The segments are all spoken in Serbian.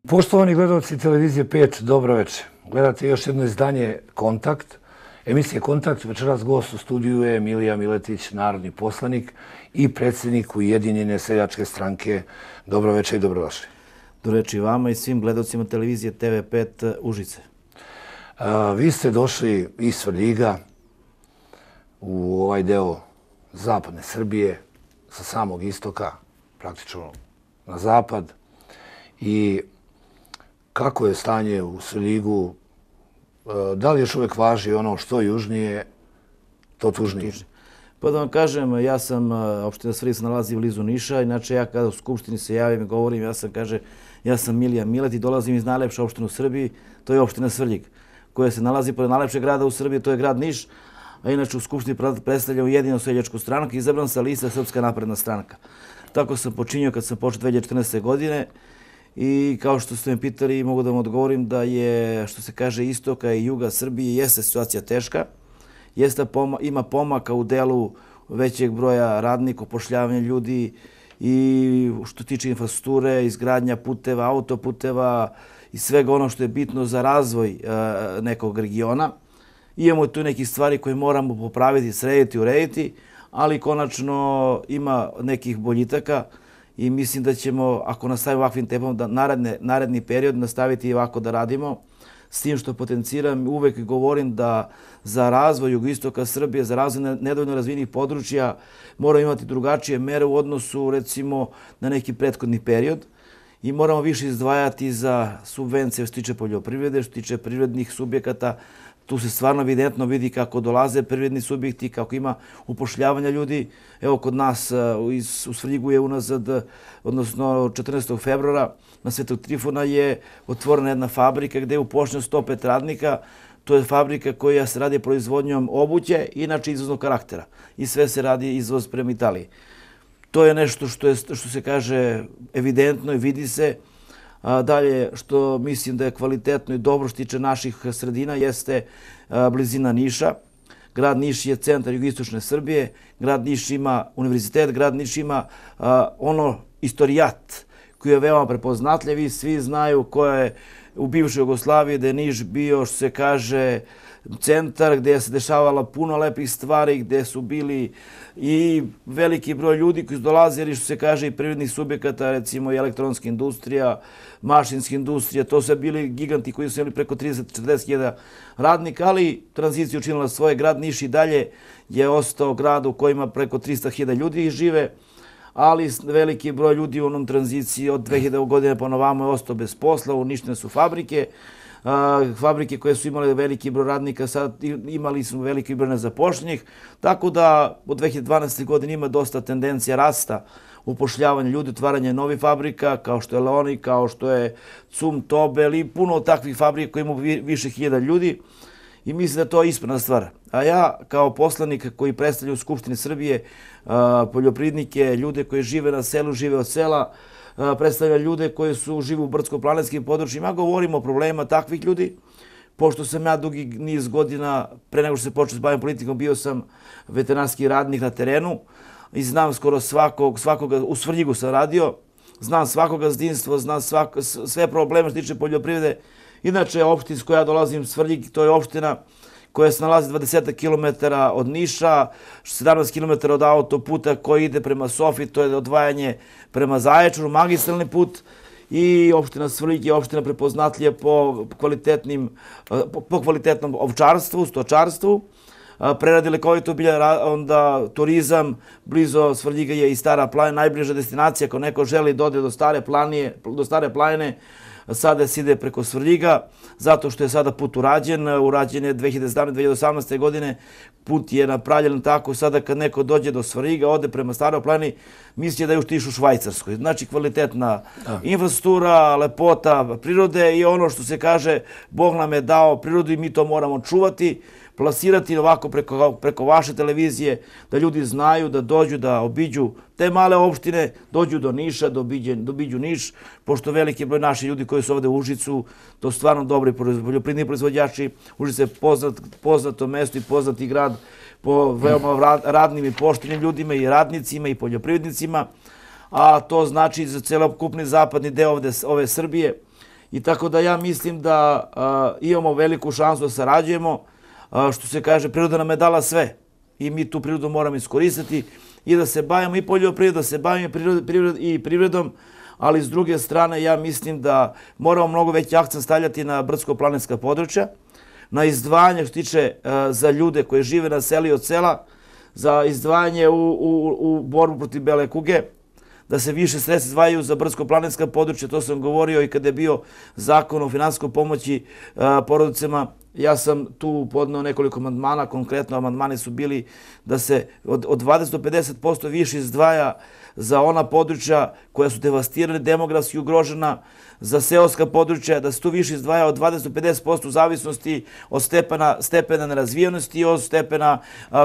Poštovani gledalci televizije 5, dobro večer. Gledate još jedno izdanje Kontakt. Emisije Kontakt, večeras gost u studiju je Milija Miletić, narodni poslanik i predsjednik Ujedinjene seljačke stranke. Dobro večer i dobrodošli. Dobro večer i vama i svim gledalcima televizije TV5 Užice. Vi ste došli iz Svrljiga u ovaj deo zapadne Srbije, sa samog istoka, praktično na zapad. I kako je stanje u Svrljigu? Da li još uvijek važi ono što južnije, to tužnije? Pa da vam kažem, opština Svrljig se nalazi blizu Niša, inače ja kada u Skupštini se javim i govorim, ja sam Milija Miletić i dolazim iz najlepše opštine u Srbiji, to je opština Svrljig, koja se nalazi pored najlepšeg grada u Srbiji, to je grad Niš, a inače u Skupštini predstavlja Ujedinjenu seljačku stranku i izabran sa liste Srpska napredna stranka. Tako sam počinio kad sam počeo 2014. godine. I kao što ste me pitali, mogu da vam odgovorim da je, što se kaže, istoka i juga Srbije, jeste situacija teška. Ima pomaka u delu većeg broja radnika, upošljavanja ljudi i što tiče infrastrukture, izgradnja puteva, autoputeva i svega ono što je bitno za razvoj nekog regiona. Imamo tu nekih stvari koje moramo popraviti, srediti, urediti, ali konačno ima nekih boljitaka. I mislim da ćemo, ako nastavimo ovakvim tempom, da naredni period nastaviti ovako da radimo. S tim što potenciram, uvek govorim da za razvoj jugoistoka Srbije, za razvoj nedovoljno razvijenih područja moramo imati drugačije mere u odnosu, recimo, na neki prethodni period. I moramo više izdvajati za subvencije što tiče poljoprivrede, što tiče privrednih subjekata. Tu se stvarno evidentno vidi kako dolaze privredni subjekti, kako ima upošljavanja ljudi. Evo kod nas u Svrljigu je unazad, odnosno 14. februara na Svetog Trifuna je otvorena jedna fabrika gdje je upošljeno 105 radnika. To je fabrika koja se radi proizvodnjom obuće, inače izvoznog karaktera. I sve se radi izvoz prema Italiji. To je nešto što se kaže evidentno i vidi se. Dalje, što mislim da je kvalitetno i dobro što tiče naših sredina, jeste blizina Niša. Grad Niš je centar jugoistočne Srbije, grad Niš ima univerzitet, grad Niš ima istorijat koji je veoma prepoznatljiv i svi znaju koja je u bivšoj Jugoslaviji da je Niš bio, što se kaže, centar gdje se dešavala puno lepih stvari, gdje su bili i veliki broj ljudi koji su dolazili, što se kaže, i privrednih subjekata, recimo i elektronska industrija, mašinska industrija, to su bili giganti koji su imali preko 30-40 hiljada radnika, ali tranzicija učinila svoje. Grad Niš i dalje je ostao grad u kojima preko 300 hiljada ljudi žive, ali veliki broj ljudi u onom tranziciji od 2000. godine pa na ovamo je ostao bez posla, uništene su fabrike. Fabrike koje su imale veliki broj radnika, sad imali smo veliki broj nezapošljenih, tako da od 2012. godine ima dosta tendencija rasta upošljavanja ljudi, otvaranja novih fabrika, kao što je Leoni, kao što je Cum, Tobel i puno takvih fabrika koji imaju više hiljada ljudi i mislim da je to ispravna stvar. A ja kao poslanik koji predstavlja u Skupštini Srbije poljoprivrednike, ljude koji žive na selu, žive od sela, predstavlja ljude koji žive u brdsko-planinskim područjima. Govorim o problemima takvih ljudi, pošto sam ja dugi niz godina, pre nego što se počeo s bavim politikom, bio sam veterinarski radnik na terenu i znam skoro svakoga, u Svrljigu sam radio, znam svakog gazdinstva, znam sve probleme što tiče poljoprivrede. Inače, opština s koja ja dolazim, Svrljig, to je opština koja se nalazi 20 km od Niša, 17 km od autoputa koji ide prema Sofiji, to je odvajanje prema Zaječaru, magistralni put, i opština Svrljig je opština prepoznatljiva po kvalitetnom ovčarstvu, stočarstvu, preradi lekovito bilja, onda turizam, blizu Svrljiga je i Stara planina, najbliža destinacija ako neko želi da ode do Stare planine, sada se ide preko Svrljiga, zato što je sada put urađen je 2017-2018. godine, put je napravljen tako, sada kad neko dođe do Svrljiga, ode prema Staroj planini, misli da je u Švajcarskoj. Znači kvalitetna infrastruktura, lepota prirode i ono što se kaže, Bog nam je dao prirodu i mi to moramo čuvati, plasirati ovako preko vaše televizije, da ljudi znaju, da dođu, da obiđu te male opštine, dođu do Niša, da obiđu Niš, pošto veliki broj naših ljudi koji su ovde u Užicu, to su stvarno dobri poljoprivredni proizvođači. Užice je poznato mesto i poznati grad po veoma radnim i poštenim ljudima i radnicima i poljoprivrednicima, a to znači za celokupni zapadni deo ove Srbije I tako da ja mislim da imamo veliku šansu da sarađujemo. Što se kaže, priroda nam je dala sve i mi tu prirodu moramo iskoristiti i da se bavimo i poljoprivredom, da se bavimo i privredom, ali s druge strane ja mislim da moramo mnogo veći akcent stavljati na brdsko-planinska područja, na izdvajanje što tiče za ljude koji žive na selu i od sela, za izdvajanje u borbu protiv bele kuge, da se više sredstva izdvajaju za brdsko-planinska područja, to sam govorio i kada je bio zakon o finansijskoj pomoći porodicama. Ja sam tu podneo nekoliko amandmana, konkretno amandmani su bili da se od 20 do 50% više izdvaja za ona područja koja su devastirana, demografski ugrožena, za seoska područja, da se tu više izdvaja od 20 do 50% u zavisnosti od stepena nerazvijenosti, od stepena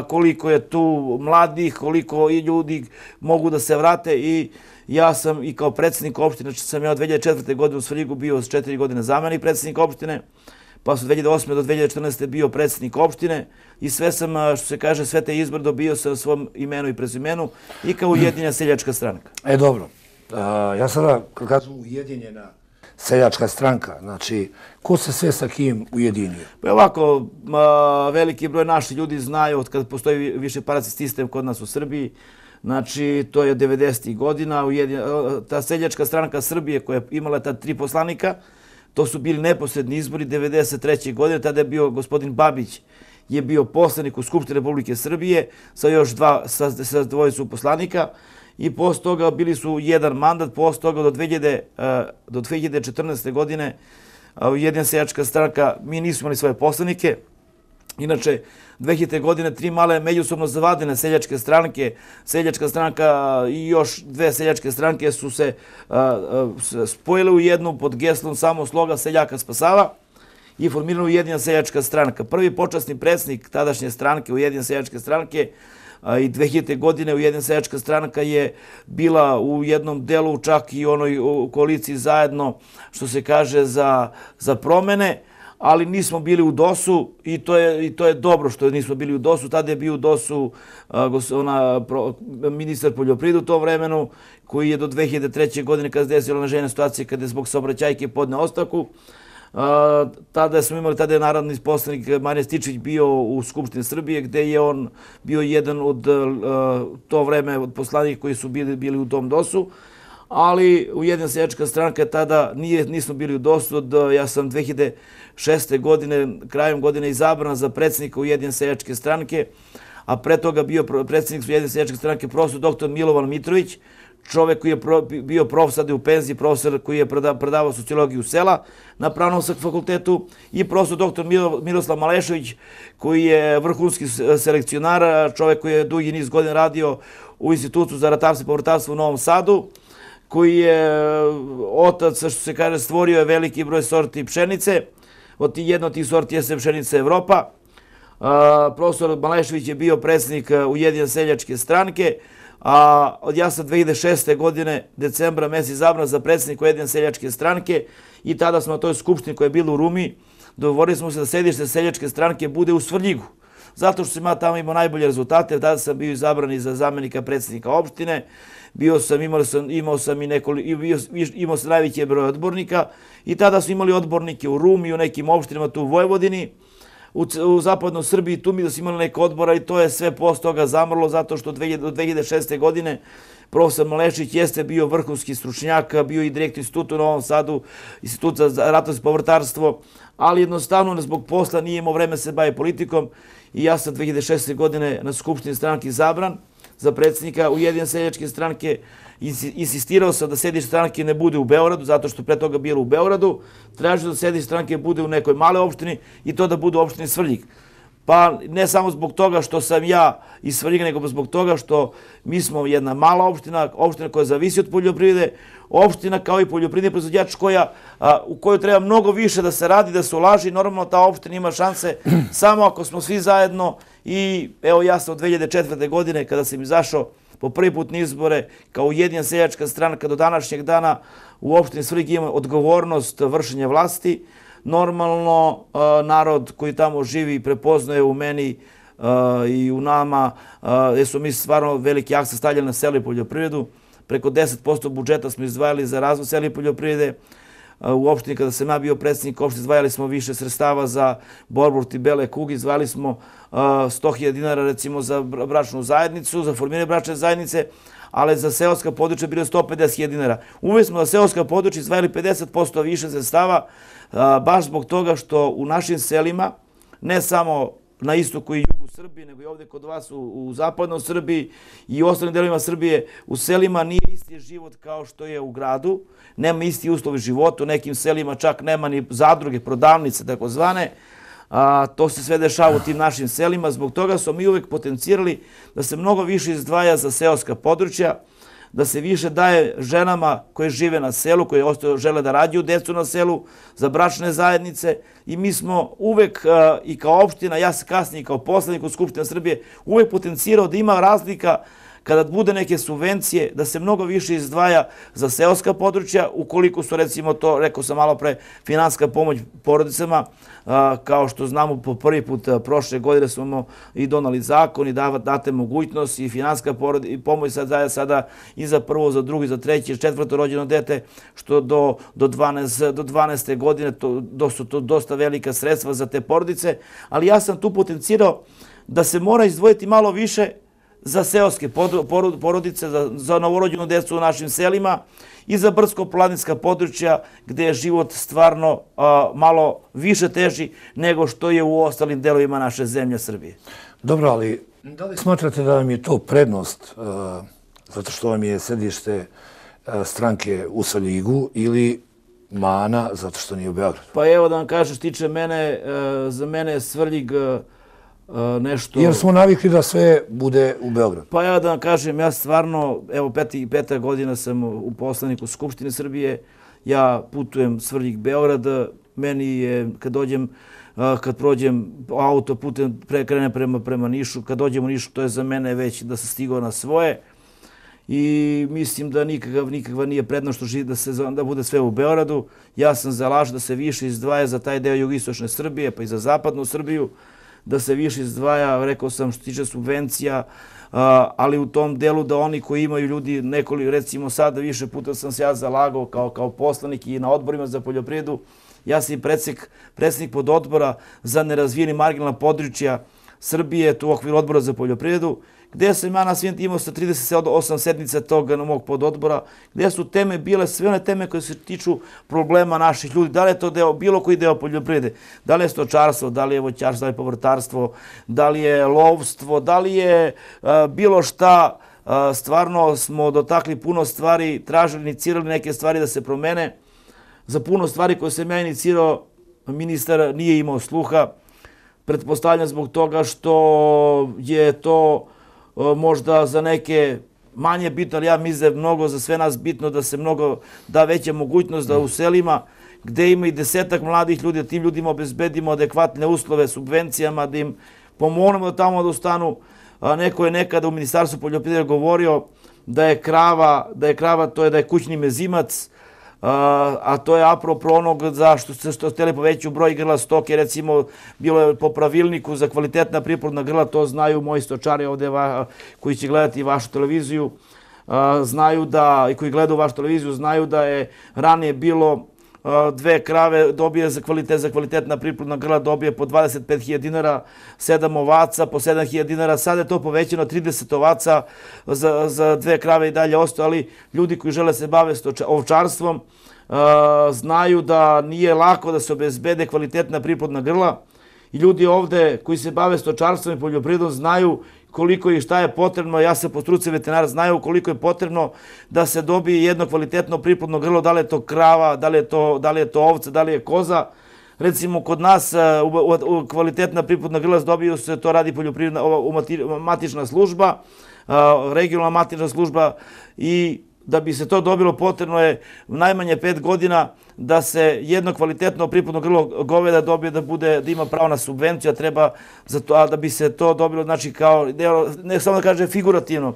koliko je tu mladih, koliko i ljudi mogu da se vrate. I ja sam i kao predsjednik opštine, sam ja od 2004. godine u Svrljigu bio s 4 godine zamenik predsjednika opštine, pa sam od 2008. do 2014. bio predsjednik opštine i sve sam, što se kaže, sve te izbore dobio sa svom imenu i prezimenu i kao Ujedinjena seljačka stranka. Dobro, ja sada, kad kažem Ujedinjena seljačka stranka, znači, ko se sve sa kim ujedinio? Pa ovako, veliki broj naših ljudi znaju od kada postoji višepartijski sistem kod nas u Srbiji. Znači, to je 90. godina, ta seljačka stranka Srbije koja je imala ta 3 poslanika, to su bili neposredni izbori 93. godine, tada je bio gospodin Babić, je bio poslanik u Skupštini Republike Srbije sa još sa dvojicu poslanika i posle toga bili su jedan mandat, posle toga do 2014. godine Ujedinjena seljačka stranka, mi nismo imali svoje poslanike. Inače, 2000. godine 3 male međusobno zavadene seljačke stranke, seljačka stranka i još 2 seljačke stranke su se spojile u jednu pod geslom samo sloga seljaka spasava i formirana Ujedinjena seljačka stranka. Prvi počasni predsjednik tadašnje stranke, Ujedinjene seljačke stranke, i 2000. godine Ujedinjena seljačka stranka je bila u jednom delu čak i onoj koaliciji zajedno, što se kaže, za promene, ali nismo bili u DOS-u i to je dobro što nismo bili u DOS-u. Tada je bio u DOS-u ministar poljoprivrede u tom vremenu, koji je do 2003. godine, kada se desila neželjena situacija, kada je zbog saobraćajke podneo ostavku. Tada je narodni poslanik Marijan Stičević bio u Skupštini Srbije, gde je on bio jedan od to vreme od poslanika koji su bili u tom DOS-u. Ali Ujedinjena seljačka stranka tada nismo bili u DOS-u. Ja sam 2006. godine, krajem godine izabran za predsjednika Ujedinjene seljačke stranke, a pre toga bio predsjednik Ujedinjene seljačke stranke profesor dr. Milovan Mitrović, čovek koji je bio profesor, sada je u penziji, profesor koji je predavao sociologiju sela na Pravnom fakultetu, i profesor dr. Miroslav Malešević, koji je vrhunski selekcionar, čovek koji je dugi niz godina radio u Institutu za ratarstvo i povrtarstvo u Novom Sadu, koji je otac, što se kaže, stvorio je veliki broj sorti pšenice. Jedna od tih sorti je pšenica Evropa. Profesor Malešević je bio predsjednik Ujedinjene seljačke stranke, a ja sam 2006. godine, decembra mesec, izabran za predsjednika Ujedinjene seljačke stranke i tada smo na toj skupštini koja je bila u Rumi, dogovorili smo se da sedište seljačke stranke bude u Svrljigu, zato što sam tamo imao najbolje rezultate. Tada sam bio izabran i za zamenika predsjednika opštine, imao sam najveći broj odbornika i tada su imali odbornike u Rumi i u nekim opštinama tu u Vojvodini, u zapadnoj Srbiji, tu mi da su imali neke odbora i to je sve posle toga zamrlo, zato što do 2006. godine profesor Malešević jeste bio vrhunski stručnjak, bio i direktor instituta u Novom Sadu, instituta za ratarstvo i povrtarstvo, ali jednostavno zbog posla nije imao vreme se bavi politikom i ja sam 2006. godine na Skupštini stranke izabran za predsjednika Ujedinjene seljačke stranke. Insistirao sam da sedište stranke ne bude u Beogradu, zato što pre toga bilo u Beogradu. Tražio da sedište stranke bude u nekoj male opštini i to da bude u opštini Svrljig. Pa ne samo zbog toga što sam ja iz Svrljiga, nego zbog toga što mi smo jedna mala opština, opština koja zavisi od poljoprivrede, opština kao i poljoprivredni proizvođač u kojoj treba mnogo više da se radi, da se ulaži. Normalno ta opština ima šanse samo ako smo svi zajedno. I evo, ja sam od 2004. godine, kada sam izašao po prvi put na izbore kao Ujedinjena seljačka stranka, do današnjeg dana u opštini Svrljig ima odgovornost vršenja vlasti. Normalno, narod koji tamo živi prepoznaje u meni i u nama, jer smo mi stvarno veliki akcent stavljali na selo i poljoprivredu. Preko 10% budžeta smo izdvajali za razvoj sela i poljoprivrede. u opštini, kada sam ja bio predsjednik opštine, izdvajali smo više sredstava za borbu protiv bele kuge, izdvajali smo 100.000 dinara recimo za bračnu zajednicu, za formiranje bračne zajednice, ali za seoska područja bilo 150.000 dinara. Uvijek smo za seoska područja izdvajali 50% više sredstava, baš zbog toga što u našim selima, ne samo na istoku i jugu Srbije, nego i ovdje kod vas u zapadnoj Srbiji i u ostalim delovima Srbije, u selima nije isti život kao što je u gradu, nema isti uslovi života, u nekim selima čak nema ni zadruge, prodavnice, takozvane. To se sve dešava u tim našim selima, zbog toga smo mi uvek potencirali da se mnogo više izdvaja za seoska područja, da se više daje ženama koje žive na selu, koje žele da rađaju decu na selu, za bračne zajednice i mi smo uvek i kao opština, ja se kasnije i kao poslanik u Skupštini Srbije, uvek potencirao da ima razlika kada bude neke subvencije, da se mnogo više izdvaja za seoska područja, ukoliko su recimo to, rekao sam malo pre, finansijska pomoć porodicama, kao što znamo po prvi put prošle godine smo i donali zakon i date mogućnost i finansijska pomoć sada i za prvo, za drugo, za treće, četvrto rođeno dete, što do 12. godine su to dosta velika sredstva za te porodice, ali ja sam tu potencirao da se mora izdvojiti malo više za seoske porodice, za novorođenu decu u našim selima i za brdsko-planinska područja gde je život stvarno malo više teži nego što je u ostalim delovima naše zemlje Srbije. Dobro, ali da li smatrate da vam je to prednost zato što vam je sedište stranke u Svrljigu ili mana zato što nije u Beogradu? Pa evo da vam kažem, što tiče mene, za mene je Svrljig nešto... Jer smo navikli da sve bude u Beogradu. Pa evo da vam kažem, ja stvarno, evo peta godina sam u poslaniku Skupštine Srbije, ja putujem Svrljig-Beograd, meni je, kad prođem autoputem, krenem prema Nišu, kad dođem u Nišu, to je za mene već da sam stigao na svoje i mislim da nikakva nije prednost da bude sve u Beogradu. Ja sam zalažen da se više izdvaja za taj deo jugoistočne Srbije, pa i za zapadnu Srbiju, da se više izdvaja, rekao sam, što tiče subvencija, ali u tom delu da oni koji imaju ljudi nekoliko, recimo sada više puta sam se ja zalagao kao poslanik i na odborima za poljoprivredu, ja sam i predsjednik pododbora za nerazvijeni marginalna područja Srbije, tu u okviru odbora za poljoprivredu, gde sam ja na svim imao sa 38 sednica tog mog pododbora, gde su teme bile sve one teme koje se tiču problema naših ljudi, da li je to bilo koji deo poljoprivrede, da li je stočarstvo, da li je voćarstvo, da li je povrtarstvo, da li je lovstvo, da li je bilo šta, stvarno smo dotakli puno stvari, tražili, inicirali neke stvari da se promene. Za puno stvari koje sam ja inicirao, ministar nije imao sluha, pretpostavljam zbog toga što je to možda za neke manje bitno, ali ja mislim da je mnogo za sve nas bitno da se mnogo da veća mogućnost da u selima gde ima i 10-ak mladih ljudi, da tim ljudima obezbedimo adekvatne uslove subvencijama, da im pomognemo da tamo da ostanu. Neko je nekada u Ministarstvu poljoprivrede govorio da je krava, to je da je kućni mezimac, a to je apropo onog zašto ste htjeli povećati broj grla stoke, recimo bilo je po pravilniku za kvalitetna priplodna grla, to znaju moji stočari ovdje koji će gledati vašu televiziju, znaju da, i koji gledaju vašu televiziju, znaju da je ranije bilo 2 krave dobije za kvalitetna priplodna grla dobije po 25.000 dinara, 7 ovaca po 7.000 dinara, sada je to povećano 30 ovaca za 2 krave i dalje ostali. Ljudi koji žele se bave ovčarstvom znaju da nije lako da se obezbede kvalitetna priplodna grla i ljudi ovde koji se bave stočarstvom i poljoprivredom znaju koliko i šta je potrebno, ja se po struci veterinara znaju koliko je potrebno da se dobije jedno kvalitetno priplodno grlo, da li je to krava, da li je to ovca, da li je koza. Recimo kod nas kvalitetna priplodna grla dobiju se, to radi poljoprivredna matična služba, regionalna matična služba i da bi se to dobilo potrebno je najmanje 5 godina da se jedno kvalitetno priplodno grlo goveda dobije da ima pravo na subvenciju, a treba a da bi se to dobilo, znači kao, ne samo da kaže figurativno,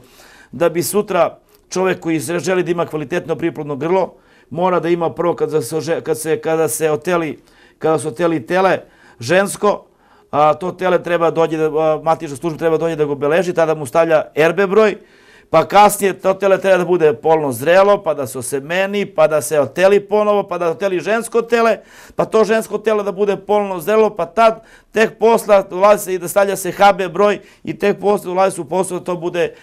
da bi sutra čovek koji želi da ima kvalitetno priplodno grlo, mora da ima prvo kada se oteli tele žensko, to tele treba dođe, matična služba treba dođe da ga obeleži, tada mu stavlja RB broj, pa kasnije to tele treba da bude polno zrelo, pa da se osemeni, pa da se oteli ponovo, pa da oteli žensko tele, pa to žensko telo da bude polno zrelo, pa tad tek posla dolazi se i da stavlja se HB broj i tek posle dolazi se u posao da to bude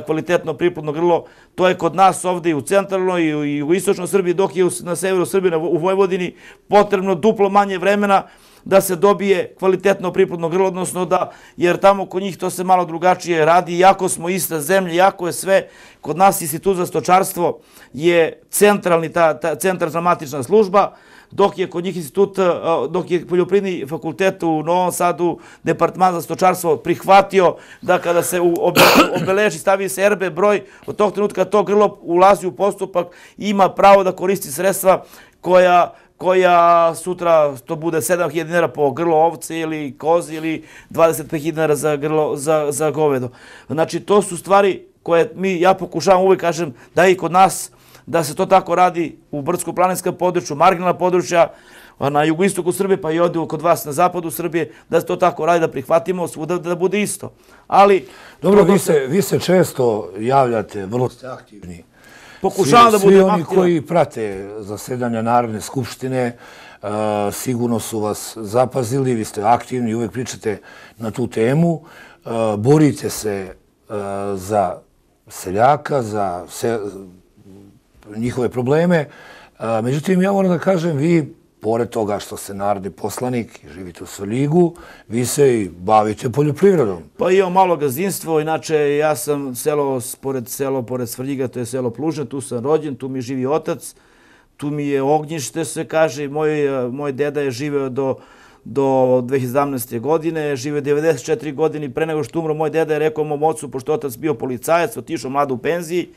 kvalitetno priplodno grlo. To je kod nas ovde i u centralnoj i u istočnoj Srbiji, dok je na severu Srbije, u Vojvodini, potrebno duplo manje vremena da se dobije kvalitetno priplodno grlo, odnosno da, jer tamo kod njih to se malo drugačije radi, iako smo ista zemlja, iako je sve, kod nas Institut za stočarstvo je centralna matična služba, dok je kod njih institut, dok je Poljoprivredni fakultet u Novom Sadu, Departman za stočarstvo prihvatio da kada se obeleži, stavi se RB broj, od tog trenutka to grlo ulazi u postupak i ima pravo da koristi sredstva koja sutra to bude 7.000 dinara po grlo ovce ili kozi ili 25.000 dinara za govedo. Znači, to su stvari koje ja pokušavam uvek, kažem, da i kod nas, da se to tako radi u brdsko-planinskom području, marginalna područja, na jugoistoku Srbije, pa i ovdje kod vas na zapadu Srbije, da se to tako radi, da prihvatimo svuda da bude isto. Ali... Dobro, vi se često javljate, vrlo ste aktivni. Pokušavam da budem aktivan. Svi oni koji prate zasedanja Narodne skupštine sigurno su vas zapazili, vi ste aktivni i uvek pričate na tu temu. Borite se za seljaka, za njihove probleme. Međutim, ja moram da kažem, vi, pored toga što ste narodni poslanik i živite u Svrljigu, vi se i bavite poljoprivredom. Pa imam malo gazdinstvo, inače ja sam pored Svrljiga, to je selo Plužne, tu sam rođen, tu mi živi otac, tu mi je ognjište, se kaže, moj deda je živeo do 2017. godine, živeo 94 godine, pre nego što umro moj deda je rekao mom ocu, pošto otac bio policajac, otišao mlado u penziji,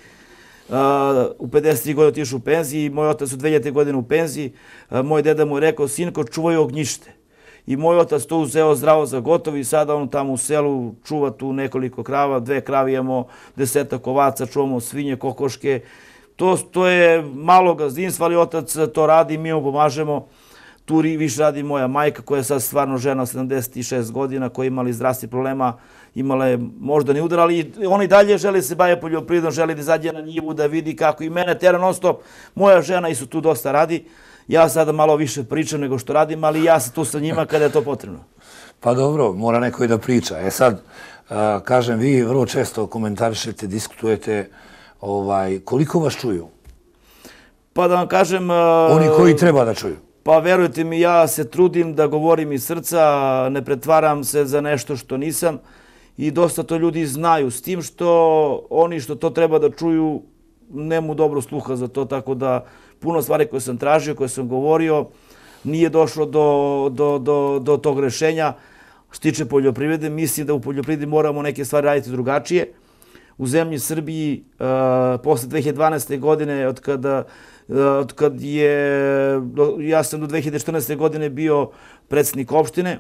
u 53 godine otišao u penziji, moj otac u 2000. godine u penziji, moj deda mu je rekao, sinko, čuvaj ognjište. I moj otac to uzeo zdravo za gotovo i sada on tamo u selu čuva tu nekoliko krava, 2 krave imamo, 10 ovaca, čuvamo svinje, kokoške. To je malo gazdinstvo, ali otac to radi i mi mu pomažemo. Tu više radi moja majka koja je sad stvarno žena 76 godina, koja je imala zdravstvenih problema, imala je moždani udar, ali on i dalje želi se baviti poljoprivredom, želi da izađe na njivu, da vidi kako i mene tera non stop. Moja žena isto tu dosta radi. Ja sada malo više pričam nego što radim, ali ja sam tu sa njima kada je to potrebno. Pa dobro, mora neko i da priča. Sad, kažem, vi vrlo često komentarišete, diskutujete, koliko vas čuju? Pa da vam kažem... Oni koji treba da čuju? Pa verujte mi, ja se trudim da govorim iz srca, ne pretvaram se za nešto što nisam i dosta to ljudi znaju, s tim što oni što to treba da čuju nemaju dobro sluha za to, tako da puno stvari koje sam tražio, koje sam govorio, nije došlo do tog rešenja. Što tiče poljoprivrede, mislim da u poljoprivredi moramo neke stvari raditi drugačije. U zemlji Srbiji, posle 2012. godine, ja sam do 2014. godine bio predsjednik opštine,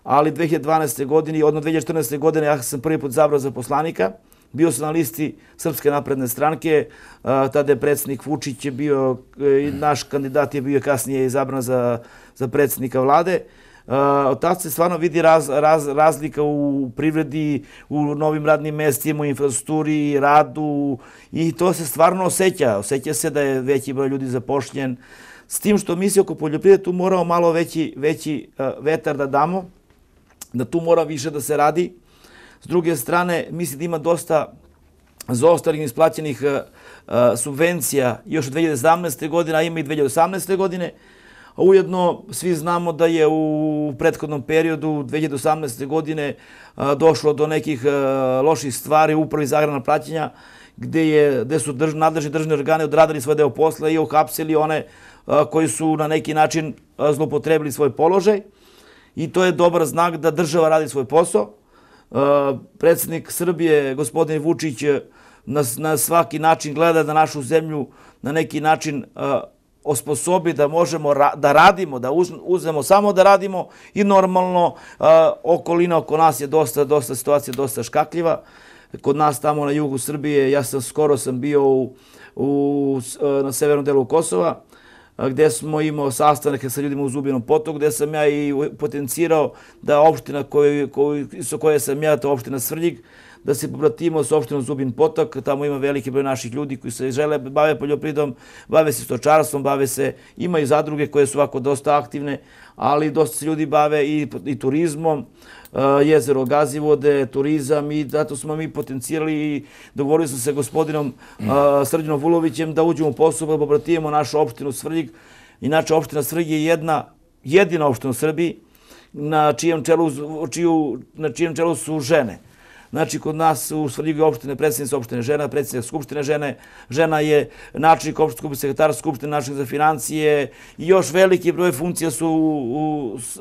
ali 2012. godine, odnosno 2014. godine, ja sam prvi put izabrao za poslanika. Bio sam na listi Srpske napredne stranke, tada je predsjednik Vučić bio, naš kandidat je bio kasnije izabran za predsjednika vlade. Od tada se stvarno vidi razlika u privredi, u novim radnim mestima, u infrastrukturi, radu i to se stvarno osjeća. Osjeća se da je veći broj ljudi zapošljen. S tim što mi se oko poljoprivrede tu moramo malo veći vetar da damo, da tu mora više da se radi. S druge strane, mislim da ima dosta zaostalih isplaćenih subvencija još od 2017. godine, a ima i 2018. godine. Ujedno, svi znamo da je u prethodnom periodu 2018. godine došlo do nekih loših stvari u Upravi za agrarna plaćanja, gde su nadležni državni organi odradili svoj deo posla i uhapsili one koji su na neki način zloupotrebili svoj položaj. I to je dobar znak da država radi svoj posao. Predsjednik Srbije, gospodin Vučić, na svaki način gleda da našu zemlju na neki način osposobi da možemo da radimo, da uzmemo samo da radimo i normalno okolina oko nas je dosta situacija, dosta škakljiva. Kod nas tamo na jugu Srbije, skoro sam bio na severnom delu Kosova, gde smo imao sastanak sa ljudima u Zubinom Potoku, gde sam ja i potencirao da opština koje sam ja, to je opština Svrljig, da se pobratimo s opštinom Zubin Potok, tamo ima veliki broj naših ljudi koji se žele, bave poljoprivredom, bave se stočarstvom, imaju zadruge koje su ovako dosta aktivne, ali dosta se ljudi bave i turizmom, jezero Gazivode, turizam i zato smo mi potencijali i dogovorili smo se gospodinom Srđanom Vulovićem da uđemo u posao da pobratimo našu opštinu Svrljig. Inače, opština Svrljig je jedina opština u Srbiji na čijem čelu su žene. Znači, kod nas u Svrljigu je opštine, predsjednica opštine žena, predsjednica skupštine žene, žena je načelnik opštine skupštine, sekretar skupštine, načelnik za financije i još veliki broj funkcija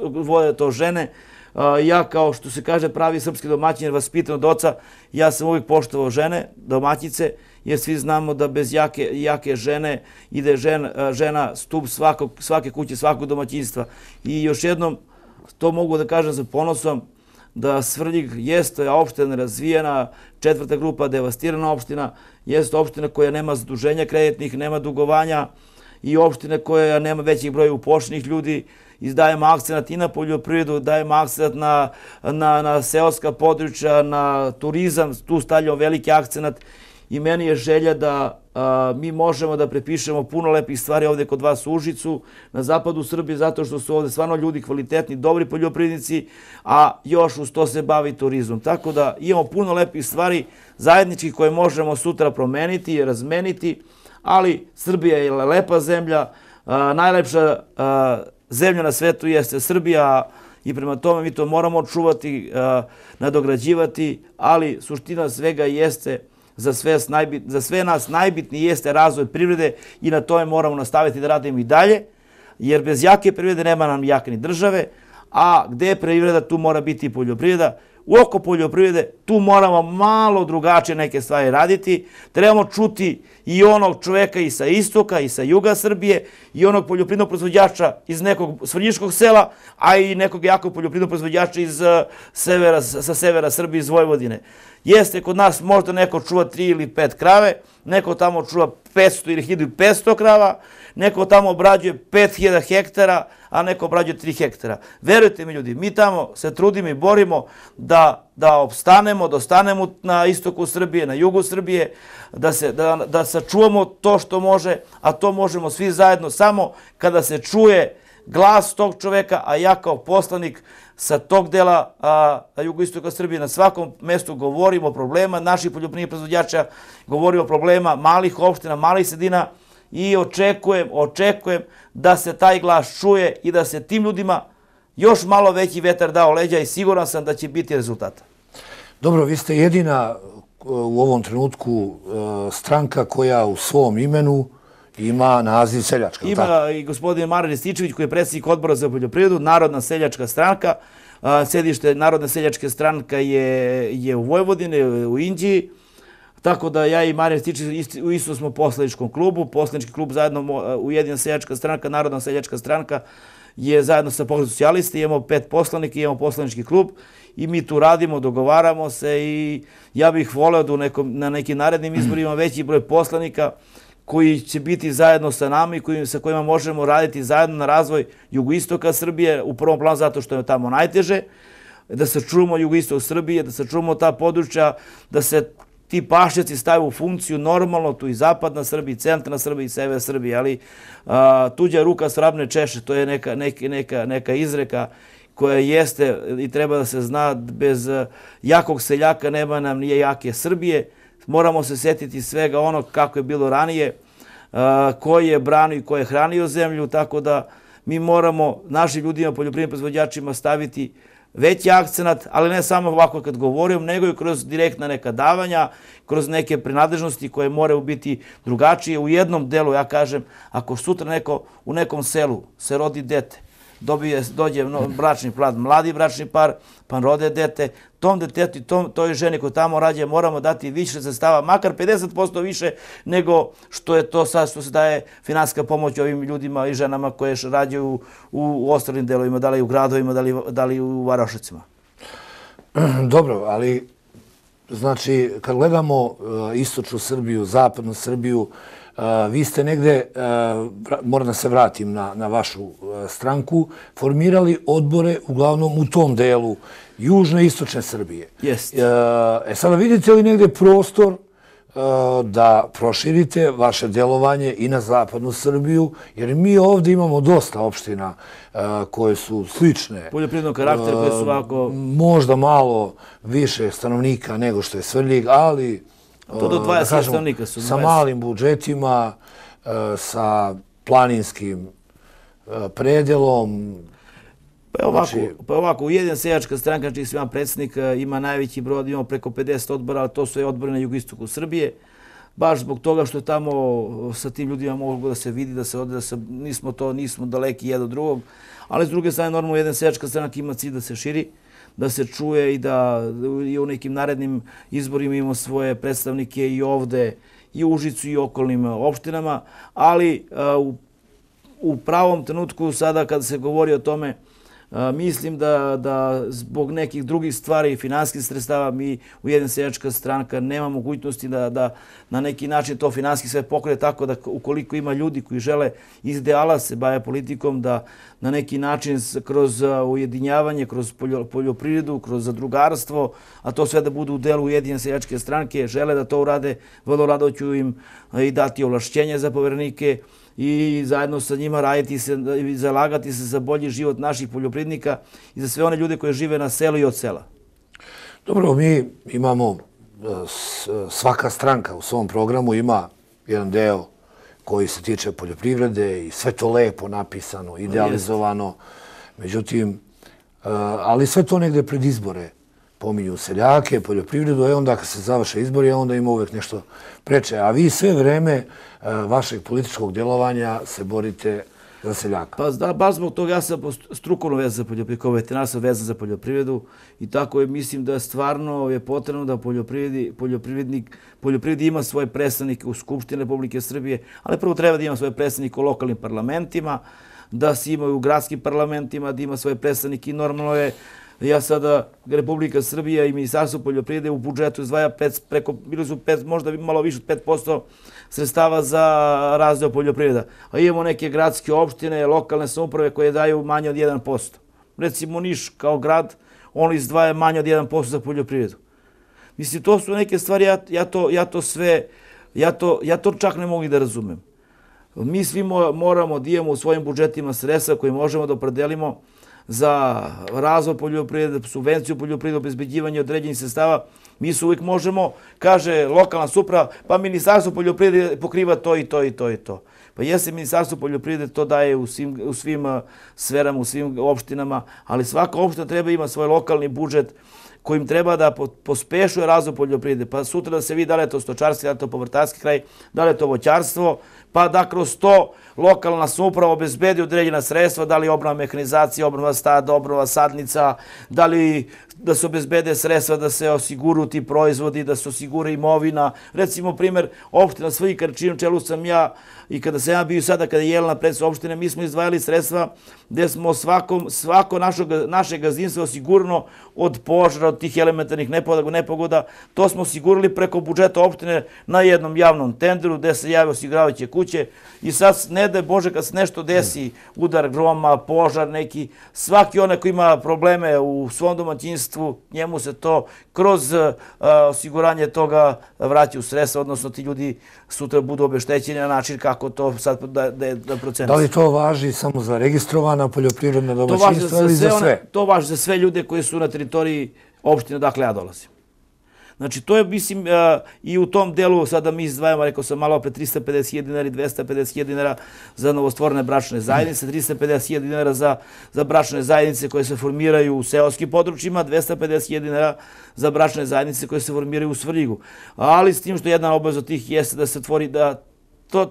vode to žene. Ja, kao što se kaže, pravi srpski domaćin, jer vaspitan od oca, ja sam uvijek poštovao žene, domaćice, jer svi znamo da bez jake žene ide žena stup svake kuće, svakog domaćinstva. I još jednom, to mogu da kažem sa ponosom, da Svrljig jeste opština nerazvijena, 4. grupa devastirana opština, jeste opština koja nema zaduženja kreditnih, nema dugovanja i opština koja nema većih broja upošljenih ljudi. Dajemo akcenat i na poljoprivredu, dajemo akcenat na seoska područja, na turizam, tu stavljamo veliki akcenat i meni je želja da mi možemo da prepišemo puno lepih stvari ovde kod vas u Užicu, na zapadu Srbije, zato što su ovde stvarno ljudi kvalitetni, dobri poljoprivrednici, a još uz to se bavi turizmom. Tako da imamo puno lepih stvari zajedničkih koje možemo sutra promeniti i razmeniti, ali Srbija je lepa zemlja, najlepša zemlja na svetu jeste Srbija i prema tome mi to moramo čuvati, nadograđivati, ali suština svega jeste za sve nas najbitniji jeste razvoj privrede i na tome moramo nastaviti da radimo i dalje, jer bez jake privrede nema nam jake ni države, a gde je privreda, tu mora biti i poljoprivreda. U oko poljoprivrede tu moramo malo drugačije neke stvari raditi. Trebamo čuti i onog čoveka i sa istoka i sa juga Srbije i onog poljoprivrednog proizvođača iz nekog svrljiškog sela, a i nekog jakog poljoprivrednog proizvođača sa severa Srbije, iz Vojvodine. Jeste, kod nas možda neko čuva 3 ili 5 krave, neko tamo čuva 500 ili 1500 krava, neko tamo obrađuje 5000 hektara, a neko obrađuje 3 hektara. Verujte mi ljudi, mi tamo se trudimo i borimo da opstanemo, da ostanemo na istoku Srbije, na jugu Srbije, da sačuvamo to što može, a to možemo svi zajedno samo kada se čuje glas tog čoveka, a ja kao poslanik sa tog dela jugoistoka Srbije na svakom mestu govorimo o problema naših poljoprivrednih proizvođača, govorimo o problema malih opština, malih sredina i očekujem da se taj glas čuje i da se tim ljudima još malo veći vetar dao leđa i siguran sam da će biti rezultata. Dobro, vi ste jedina u ovom trenutku stranka koja u svom imenu ima naziv seljačka. Ima i gospodin Marijan Rističević koji je predsjednik odbora za poljoprivredu, Narodna seljačka stranka. Sedište Narodne seljačke stranke je u Vojvodini, u Inđiji. Tako da ja i Marijan Rističević isto smo u poslaničkom klubu. Poslanički klub zajedno Ujedinjena seljačka stranka, Narodna seljačka stranka je zajedno sa Pokretom socijalista. Imamo 5 poslanika, imamo poslanički klub i mi tu radimo, dogovaramo se i ja bih voleo da na nekim narednim izborima veći broj poslanika koji će biti zajedno sa nama i sa kojima možemo raditi zajedno na razvoj jugoistoka Srbije, u prvom planu zato što je tamo najteže, da sačuvamo jugoistok Srbije, da sačuvamo ta područja, da se ti pašnjaci stave u funkciju normalno, tu i zapadna Srbija, i centralna Srbija, i sever Srbije, ali tuđa ruka svrabne češe, to je neka izreka koja jeste i treba da se zna, bez jakog seljaka nema nam nije jake Srbije. Moramo se sjetiti svega onog kako je bilo ranije, ko je branio i ko je hranio zemlju, tako da mi moramo našim ljudima, poljoprivrednim proizvođačima staviti veći akcenat, ali ne samo ovako kad govorim, nego i kroz direktna neka davanja, kroz neke prinadležnosti koje moraju biti drugačije. U jednom delu, ja kažem, ako sutra neko u nekom selu se rodi dete, dođe bračni par, mladi bračni par, pa rode dete, tom detetu i toj ženi koja tamo rađa moramo dati više sredstava, makar 50% više nego što je to sad što se daje finansijska pomoć ovim ljudima i ženama koje rađaju u ostalim delovima, da li u gradovima, da li u varošicima. Dobro, ali znači, kad gledamo istočnu Srbiju, zapadnu Srbiju, vi ste negde, moram da se vratim na vašu stranku, formirali odbore uglavnom u tom delu južne i istočne Srbije. Jeste. Sada vidite li negde prostor da proširite vaše delovanje i na zapadnu Srbiju, jer mi ovdje imamo dosta opština koje su slične. Poljoprivrednog karaktera koje su ovako... Možda malo više stanovnika nego što je Svrljig, ali... To do 20 stanovnika su. Sa malim budžetima, sa planinskim predelom. Pa ovako, Ujedinjena seljačka stranka, čiji sam predsjednik, ima najveći broj, imamo preko 50 odbora, ali to su odbori na jugoistoku Srbije. Baš zbog toga što je tamo sa tim ljudima mogu da se vidi, da se ode, nismo daleki jedan od drugog. Ali s druge strane, normalno, Ujedinjena seljačka stranka ima cilj da se širi, da se čuje i da i u nekim narednim izborima imamo svoje predstavnike i ovde, i u Užicu i okolnim opštinama, ali u pravom trenutku sada kada se govori o tome, mislim da zbog nekih drugih stvari i finansijskih sredstava mi Ujedinjena seljačka stranka nema mogućnosti da na neki način to finansijski sve pokrije, tako da ukoliko ima ljudi koji žele iz ideala se bave politikom, da na neki način kroz ujedinjavanje, kroz poljoprivredu, kroz zadrugarstvo, a to sve da budu u delu Ujedinjene seljačke stranke, žele da to urade, vrlo rado ću im i dati ovlašćenje za poverenike i zajedno sa njima raditi se i zalagati se za bolji život naših poljoprivrednika i za sve one ljude koji žive na selu i od sela. Dobro, mi imamo, svaka stranka u svom programu ima jedan deo koji se tiče poljoprivrede i sve to lepo napisano, idealizovano. Međutim, ali sve to negde pred izbore pominju seljake, poljoprivredu, onda kad se završe izbori, onda ima uvek nešto preče. A vi sve vreme vašeg političkog djelovanja se borite za seljaka. Pa baš zbog toga ja sam strukovno vezan za poljoprivredu, kao veterinar sam vezan za poljoprivredu i tako je, mislim da stvarno je potrebno da poljoprivredi ima svoje predstavnike u Skupštini Republike Srbije, ali prvo treba da ima svoje predstavnike u lokalnim parlamentima, da se imaju u gradskim parlamentima, da ima svoje predstavnike i normalno je. Ja sada, Republika Srbija i Ministarstvo poljoprivrede u budžetu izdvaja preko, bili su možda malo više od 5% sredstava za razvoj poljoprivreda. A imamo neke gradske opštine, lokalne samouprave koje daju manje od 1%. Recimo Niš kao grad, on izdvaja manje od 1% za poljoprivredu. Mislim, to su neke stvari, ja to čak ne mogu da razumem. Mi svi moramo da imamo u svojim budžetima sredstva koje možemo da opredelimo za razvoj poljoprivrede, subvenciju poljoprivrede, obezbeđivanje određenih sredstava. Mi se uvijek možemo, kaže lokalna samouprava, pa Ministarstvo poljoprivrede pokriva to i to i to i to. Pa jeste, Ministarstvo poljoprivrede to daje u svim sferama, u svim opštinama, ali svaka opština treba ima svoj lokalni budžet kojim treba da pospešuje razvoj poljoprivrede. Pa sutra da se vidi da li je to stočarski, da li je to povrtarski kraj, da li je to voćarstvo, pa da kroz to lokalna samouprava obezbedi određena sredstva, da li obnova mehanizacije, obnova stada, obnova sadnica, da li da se obezbede sredstva da se osiguru ti proizvodi, da se osigura imovina. Recimo, primjer, opština Svrljig, čijom čelu sam ja i kada sam ja bio sada, kada je Jelena predsjednik opštine, mi smo izdvajali sredstva gdje smo svako naše gazdinstvo osigurano od požara, od tih elementarnih nepogoda. To smo osigurali preko budžeta opštine na jednom javnom tenderu gdje se jave osiguravajuće kuće i sad ne daj Bože kad se nešto desi, udar groma, požar neki, svaki onaj koji ima probleme u svom domaćinstvu, njemu se to kroz osiguranje toga vraća u sredstva, odnosno ti ljudi sutra budu obeštećeni na način kako to sad da procenuje. Da li to važi samo za registrovana poljoprivredna domaćinstva ili za sve? To važi za sve ljude koji su na teritoriji opštine dakle ja dolazim. Znači, to je, mislim, i u tom delu sada mi izdvajamo, rekao sam malo opet, 350.000 dinara i 250.000 dinara za novostvorene bračne zajednice, 350.000 dinara za bračne zajednice koje se formiraju u seoskim područjima, 250.000 dinara za bračne zajednice koje se formiraju u Svrljigu. Ali s tim što jedna obaveza od tih jeste da se tvori da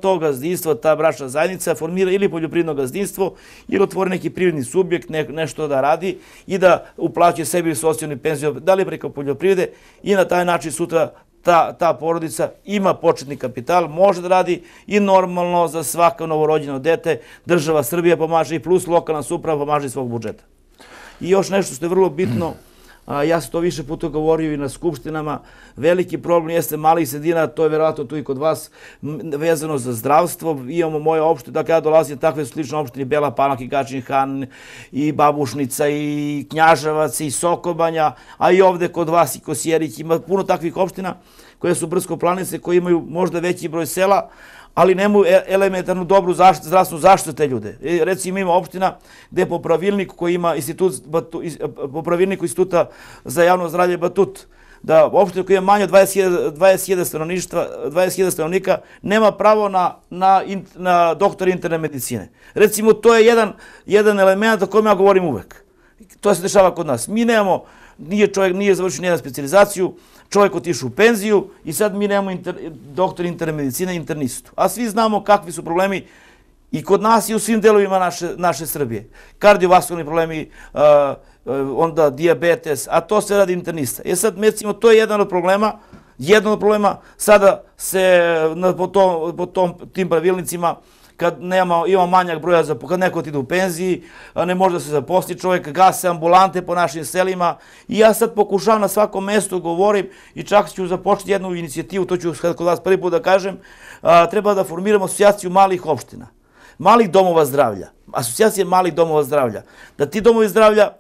to gazdinstvo, ta bračna zajednica formira ili poljoprivredno gazdinstvo ili otvori neki privredni subjekt, nešto da radi i da uplaćuje sebi socijalnu penziju, da li preko poljoprivrede i na taj način sutra ta porodica ima početni kapital, može da radi i normalno za svako novorođeno dete država Srbija pomaže i plus lokalna samouprava pomaže iz svog budžeta. I još nešto što je vrlo bitno, Ja sam to više puta govorio i na skupštinama. Veliki problem jeste malih sredina, to je verovatno tu i kod vas, vezano za zdravstvo. Imamo moje opštine, dakle ja dolazim takve slične opštine, Bela Palanka i Gadžin Han, i Babušnica, i Knjaževac, i Sokobanja, a i ovde kod vas i Kosjerić. Ima puno takvih opština koje su brdsko-planinske, koje imaju možda veći broj sela, ali nemaju elementarnu dobru zdravstvenu zaštitu te ljude. Recimo ima opština gde po pravilniku koji ima po pravilniku Instituta za javno zdravlje Batut, da opština koja ima manje od 20.000 stanovnika nema pravo na doktora interne medicine. Recimo, to je jedan element o kojem ja govorim uvek. To se dešava kod nas. Mi nemamo, čovjek nije završio nijednu specijalizaciju, čovjek otišao u penziju i sad mi nemamo doktor interne medicine, internistu. A svi znamo kakvi su problemi i kod nas i u svim delovima naše Srbije. Kardiovaskularni problemi, onda dijabetes, a to se radi internista. Sad, recimo, to je jedan od problema, sada se po tim pravilnicima, kad ima manjak broja, kad neko ide u penziji, ne može da se zaposli čovjek, gase ambulante po našim selima i ja sad pokušavam na svakom mestu govorim i čak ću započeti jednu inicijativu, to ću kod vas prvi put da kažem, treba da formiramo asocijaciju malih opština, malih domova zdravlja, asocijacije malih domova zdravlja, da ti domovi zdravlja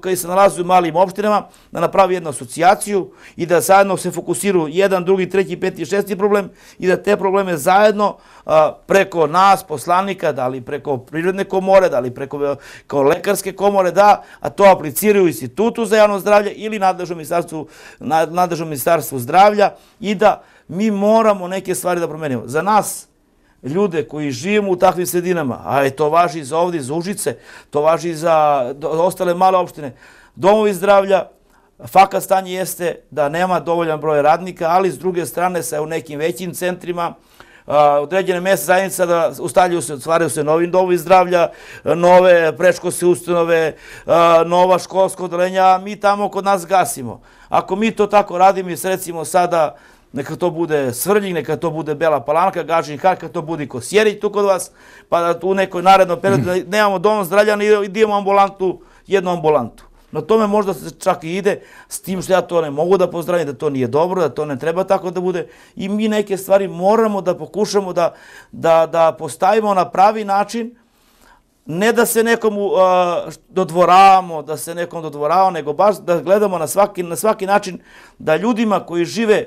koji se nalaze u malim opštinama, da napravi jednu asocijaciju i da zajedno se fokusiraju jedan, drugi, treći, peti, šesti problem i da te probleme zajedno preko nas, poslanika, da li preko Privredne komore, da li preko kao lekarske komore, a to apliciraju Institutu za javno zdravlje ili nadležnom ministarstvu zdravlja i da mi moramo neke stvari da promenimo. Za nas, ljude koji živimo u takvim sredinama, a to važi za ovdje, za Užice, to važi za ostale male opštine, domovi zdravlja, fakat stanje jeste da nema dovoljan broj radnika, ali s druge strane sa u nekim većim centrima, određene mesne zajednice da stvaraju se novi domovi zdravlja, nove predškolske ustanove, nova školska odeljenja, mi tamo kod nas gasimo. Ako mi to tako radimo i recimo sada neka to bude Svrljig, neka to bude Bela Palanka, Gadžin Han, neka to bude Kosjerić tu kod vas, pa da u nekoj narednom periodu nemamo dom zdravlja i da imamo jednu ambulantu. Na tome možda se čak i ide, s tim što ja to ne mogu da pozdravim, da to nije dobro, da to ne treba tako da bude i mi neke stvari moramo da pokušamo da postavimo na pravi način, ne da se nekomu dodvoravamo, nego baš da gledamo na svaki način da ljudima koji žive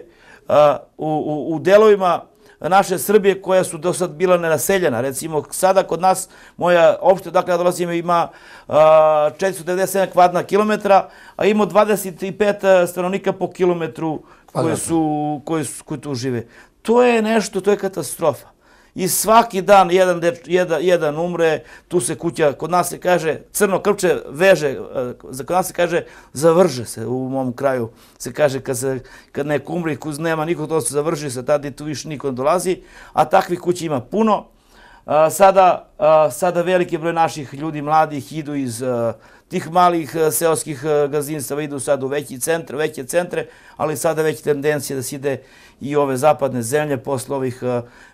u delovima naše Srbije koja su do sad bila nenaseljena. Recimo, sada kod nas, moja opština, dakle ja dolazim, ima 497 kvadratna kilometra, a ima 25 stanovnika po kilometru koji tu žive. To je nešto, to je katastrofa. I svaki dan jedan umre, tu se kuća, kod nas se kaže, crno krpče veže, kod nas se kaže zavrže se, u mom kraju se kaže kad neko umre i nema nikog, to se završi se, tada tu više niko ne dolazi, a takvih kuća ima puno. Sada veliki broj naših ljudi mladih idu iz tih malih seoskih gazdinstava, idu sad u veće centre, ali sada već tendencija da se ide i ove zapadne zemlje posle ovih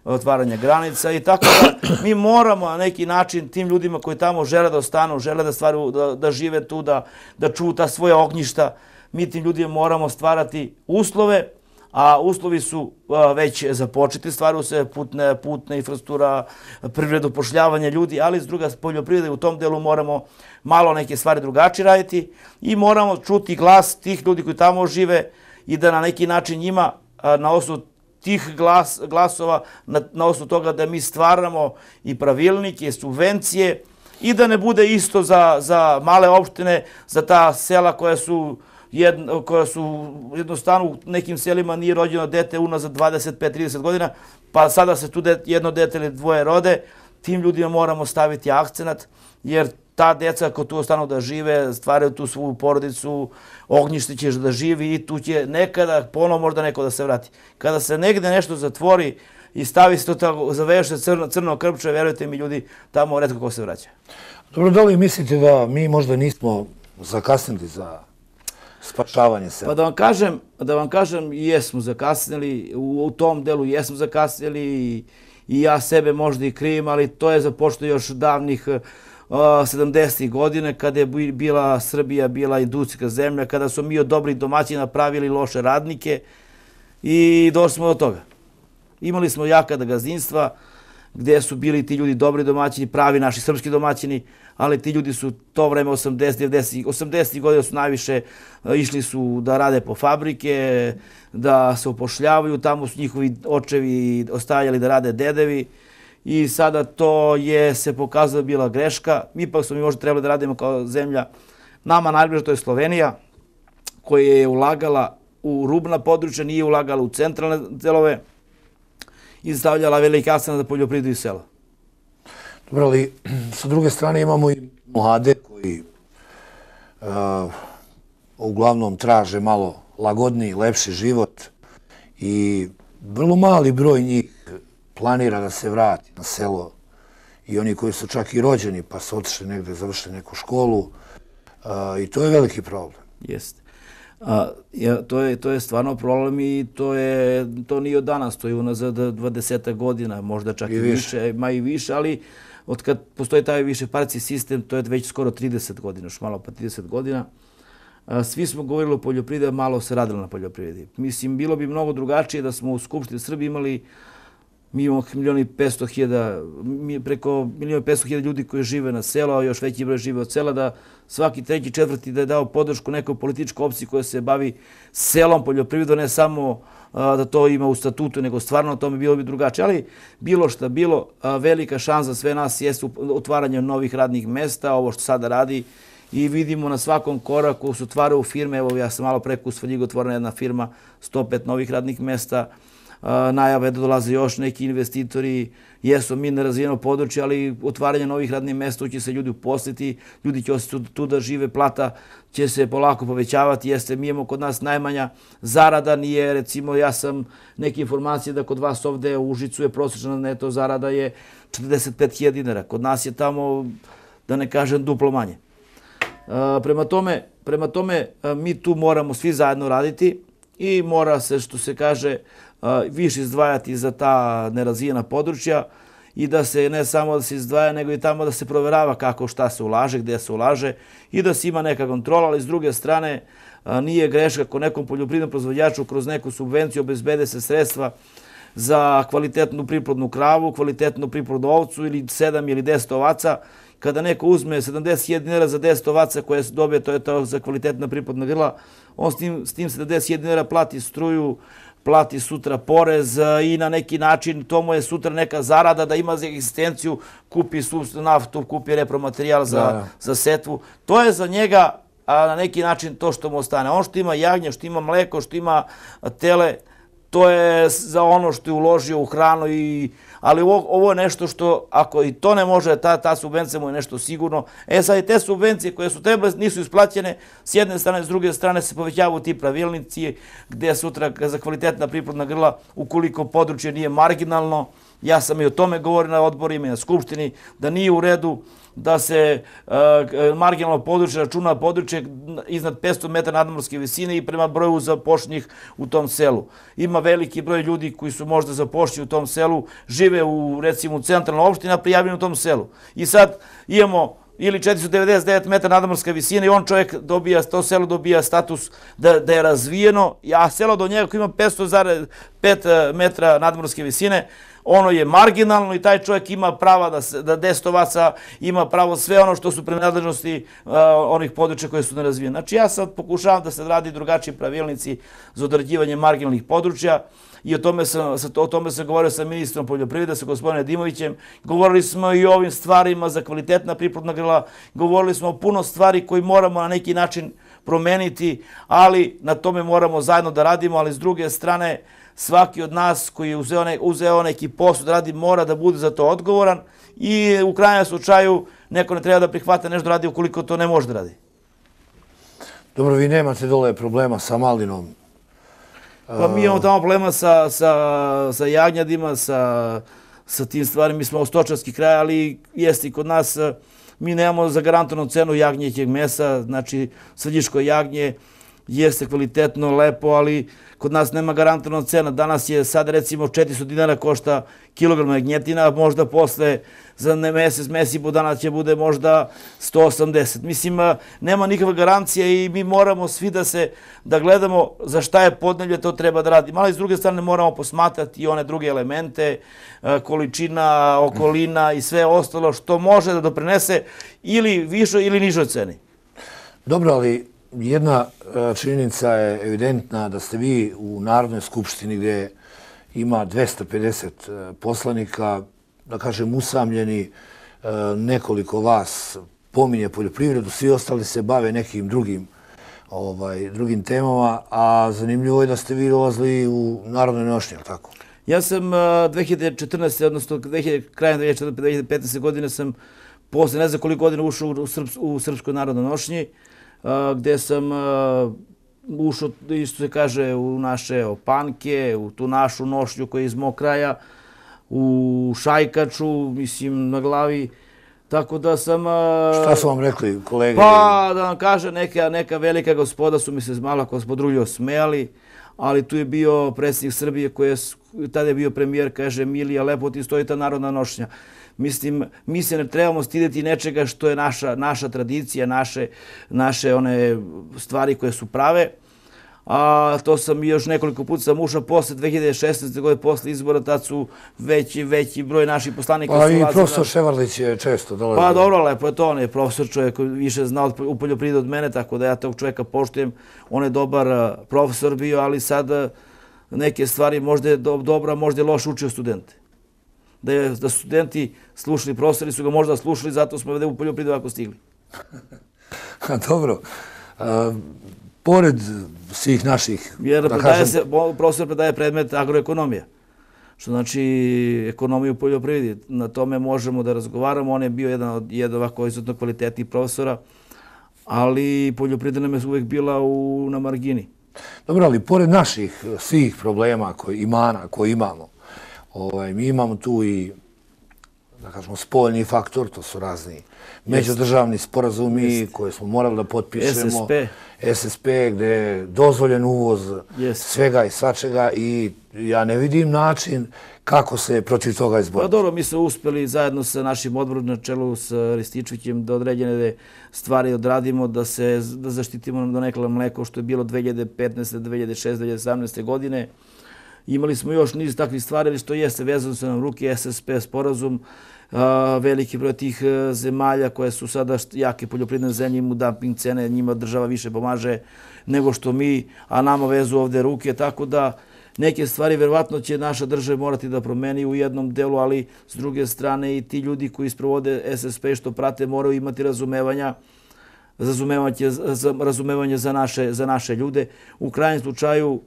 otvaranja granica i tako da mi moramo na neki način tim ljudima koji tamo žele da ostanu, žele da žive tu, da čuvu ta svoja ognjišta, mi tim ljudima moramo stvarati uslove, a uslovi su već započeti, stvaraju se putna infrastruktura, privredu, upošljavanje ljudi, ali s druga poljoprivrede u tom delu moramo malo neke stvari drugačije raditi i moramo čuti glas tih ljudi koji tamo žive i da na neki način njima na osnovu tih glasova, na osnovu toga da mi stvaramo i pravilnike, subvencije i da ne bude isto za male opštine, za ta sela koja su jednostavno u nekim selima nije rođeno dete unazad 25-30 godina, pa sada se tu jedno dete ili dvoje rode, tim ljudima moramo staviti akcenat, jer ta deca ako tu ostanu da žive, stvaraju tu svoju porodicu, ognjište će da živi i tu će nekada ponovo možda neko da se vrati. Kada se negde nešto zatvori i stavi se to tako, zaveže crno krpče, verujte mi ljudi, tamo retko ko se vraća. Dobro, da li mislite da mi možda nismo zakasnili za spašavanje sela? Pa da vam kažem, jesmo zakasnili, u tom delu jesmo zakasnili i ja sebe možda i krivim, ali to je započeto još davnih 70. godine, kada je bila Srbija bila industrijska zemlja, kada smo mi od dobrih domaćina pravili loše radnike i došli smo do toga. Imali smo jaka gazdinstva gdje su bili ti ljudi dobri domaćini, pravi naši srpski domaćini, ali ti ljudi su to vreme 80. godina su najviše išli su da rade po fabrike, da se upošljavaju, tamo su njihovi očevi ostajali da rade dedevi i sada to je se pokazalo bila greška. Ipak smo mi možda trebali da radimo kao zemlja. Nama najbliže to je Slovenija koja je ulagala u rubna područja, nije ulagala u centralne delove i stavljala veliki akcent na poljoprivredu i sela. Dobro, ali sa druge strane imamo i mlade koji uglavnom traže malo lagodniji, lepši život i vrlo mali broj njih planira da se vrati na selo i oni koji su čak i rođeni pa su otišli negde, završili neku školu i to je veliki problem. Jeste. To je stvarno problem i to nije od danas, to je unazad 20 godina, možda čak i više, ma i više, ali od kad postoji taj višepartijski sistem, to je već skoro 30 godina, još malo pa 30 godina. Svi smo govorili o poljoprivredi, malo se radilo na poljoprivredi. Mislim, bilo bi mnogo drugačije da smo u Skupštini Srbije imali mi imamo 1.500.000, preko 1.500.000 ljudi koji žive na selu, a još veći broj žive od sela, da svaki treći, četvrti da je dao podršku nekoj političkoj opciji koja se bavi selom, poljoprivredom, ne samo da to ima u statutu, nego stvarno tome bilo bi drugačije. Ali bilo šta bilo, velika šansa sve nas jeste otvaranje novih radnih mesta, ovo što sada radi, i vidimo na svakom koraku se otvaraju firme. Evo, ja sam malo preko u Svrljigu otvorena jedna firma, 105 novih radnih mesta, najave da dolaze još neki investitori, jesu mi nerazvijeno područje, ali otvaranje novih radnih mesta će se ljudi uposliti, ljudi će ostati tu da žive, plata će se polako povećavati, jeste, mi imamo kod nas najmanja zarada, nije, recimo, ja sam neke informacije da kod vas ovde u Užicu je prosječna neto zarada je 45.000 dinara, kod nas je tamo, da ne kažem, duplo manje. Prema tome, mi tu moramo svi zajedno raditi i mora se, što se kaže, više izdvajati za ta nerazvijena područja i da se ne samo da se izdvaja, nego i tamo da se proverava kako šta se ulaže, gdje se ulaže i da se ima neka kontrola, ali s druge strane nije greška ako nekom poljoprivrednom proizvođaču kroz neku subvenciju obezbede se sredstva za kvalitetnu priplodnu kravu, kvalitetnu priplodnu ovcu ili 7 ili 10 ovaca. Kada neko uzme 70.000 dinara za 10 ovaca koje se dobije, to je to za kvalitetna priplodna grla, on s tim 70.000 dinara plati struju, plati sutra porez i na neki način to mu je sutra neka zarada da ima za egzistenciju, kupi naftu, kupi repromaterijal za setvu. To je za njega na neki način to što mu ostane. On što ima jagnje, što ima mleko, što ima tele, to je za ono što je uložio u hranu, ali ovo je nešto što, ako i to ne može, ta subvencija mu je nešto sigurno. Sad i te subvencije koje su trebale nisu isplaćene, s jedne strane, s druge strane se povećavaju ti pravilnici gdje sutra za kvalitetna priplodna grla, ukoliko područje nije marginalno, ja sam i o tome govorio na odborima i na Skupštini, da nije u redu da se marginalno područje računa područje iznad 500 metara nadmorske visine i prema broju zapošljenih u tom selu. Ima veliki broj ljudi koji su možda zapošljeni u tom selu, žive u, recimo, u centralnoj opštini, a prijavljeni u tom selu. I sad imamo ili 499 metara nadmorska visina i on čovjek dobija, to selo dobija status da je razvijeno, a selo do njega koji ima 500,5 metra nadmorske visine, ono je marginalno i taj čovjek ima prava da 10 ovaca, ima pravo sve ono što su prenadležnosti onih područja koje su nerazvijene. Znači ja sad pokušavam da se radi drugačiji pravilnici za određivanje marginalnih područja i o tome sam govorio sa ministrom poljoprivrede, sa gospodinom Dimovićem. Govorili smo i o ovim stvarima za kvalitetna priplodna grla, govorili smo o puno stvari koji moramo na neki način promeniti, ali na tome moramo zajedno da radimo, ali s druge strane svaki od nas koji je uzeo neki posao da radi mora da bude za to odgovoran i u krajnjem slučaju neko ne treba da prihvata nešto da radi ukoliko to ne može da radi. Dobro, vi nemate dole problema sa malinom? Pa mi imamo tamo problema sa jagnjadima, sa tim stvarima. Mi smo stočarski kraj, ali jeste i kod nas. Mi nemamo zagarantovanu cenu jagnjećeg mesa, znači svrljiško jagnje. jeste kvalitetno, lepo, ali kod nas nema garantovana cena. Danas je sad recimo 400 dinara košta kilogram jagnjetina, možda posle za mesec i po dana će bude možda 180. Mislim, nema nikakva garancija i mi moramo svi da gledamo za šta je podneblje, to treba da radimo. Ali s druge strane moramo posmatrati i one druge elemente, količina, okolina i sve ostalo što može da doprinese ili višoj ili nižoj ceni. Dobro, ali jedna činjenica je evidentna da ste vi u Narodnoj skupštini gdje ima 250 poslanika, da kažem usamljeni, nekoliko vas pominje poljoprivredu, svi ostali se bave nekim drugim temama, a zanimljivo je da ste vi dolazili u Narodnoj nošnji, tako? Ja sam 2014. odnosno krajem 2015. godine sam posle ne znam koliko godina ušao u Srpskoj narodnoj nošnji, gde sam ušao, isto se kaže, u naše opanke, u tu našu nošnju koja je iz mog kraja, u šajkaču, mislim, na glavi, tako da sam... Šta su vam rekli kolege? Pa, da vam kaže, neka velika gospoda su mi se malo gospodruljo smejali, ali tu je bio predsjednik Srbije koji je, tada je bio premijer, kaže, Milija, lepo ti stoji ta narodna nošnja. Mislim, mi se ne trebamo stideti nečega što je naša tradicija, naše one stvari koje su prave. A to sam još nekoliko puta sam ušao posle 2016. godine, posle izbora, tad su veći broj naših poslanika. Pa i profesor Ševarlić je često dolazio. Pa dobro, lepo je to, on je profesor čovjek koji više zna u poljoprivredi od mene, tako da ja tog čovjeka poštujem. On je dobar profesor bio, ali sad neke stvari možda je dobra, možda je loš učio studente. Da su studenti slušali, profesori su ga možda slušali, zato smo ovdje u poljoprivredu ovako stigli. Dobro. Pored svih naših... Jer profesor predaje predmet agroekonomija, što znači ekonomiju u poljoprivredi. Na tome možemo da razgovaramo. On je bio jedan ovako izuzetno kvalitetnih profesora, ali poljoprivreda nam je uvijek bila na margini. Dobro, ali pored naših svih problema, imana koje imamo, mi imamo tu i, da kažemo, spoljni faktor, to su razni međudržavni sporazumi koje smo morali da potpišemo. SSP, gdje je dozvoljen uvoz svega i svačega i ja ne vidim način kako se protiv toga izboriti. Pa dobro, mi smo uspjeli zajedno sa našim odborom na čelu sa Rističevićem da određene stvari odradimo, da zaštitimo do nekala mleko što je bilo 2015. 2016. 2017. godine. Imali smo još niz takvih stvari, što jeste vezano sa nam ruke, SSP sporazum, veliki broj tih zemalja koje su sada jake poljoprivredne zemlje, imaju dumping cene, njima država više pomaže nego što mi, a nama vezu ovdje ruke, tako da neke stvari verovatno će naša država morati da promeni u jednom delu, ali s druge strane i ti ljudi koji sprovode SSP što prate moraju imati razumevanje za naše ljude. U krajnjem slučaju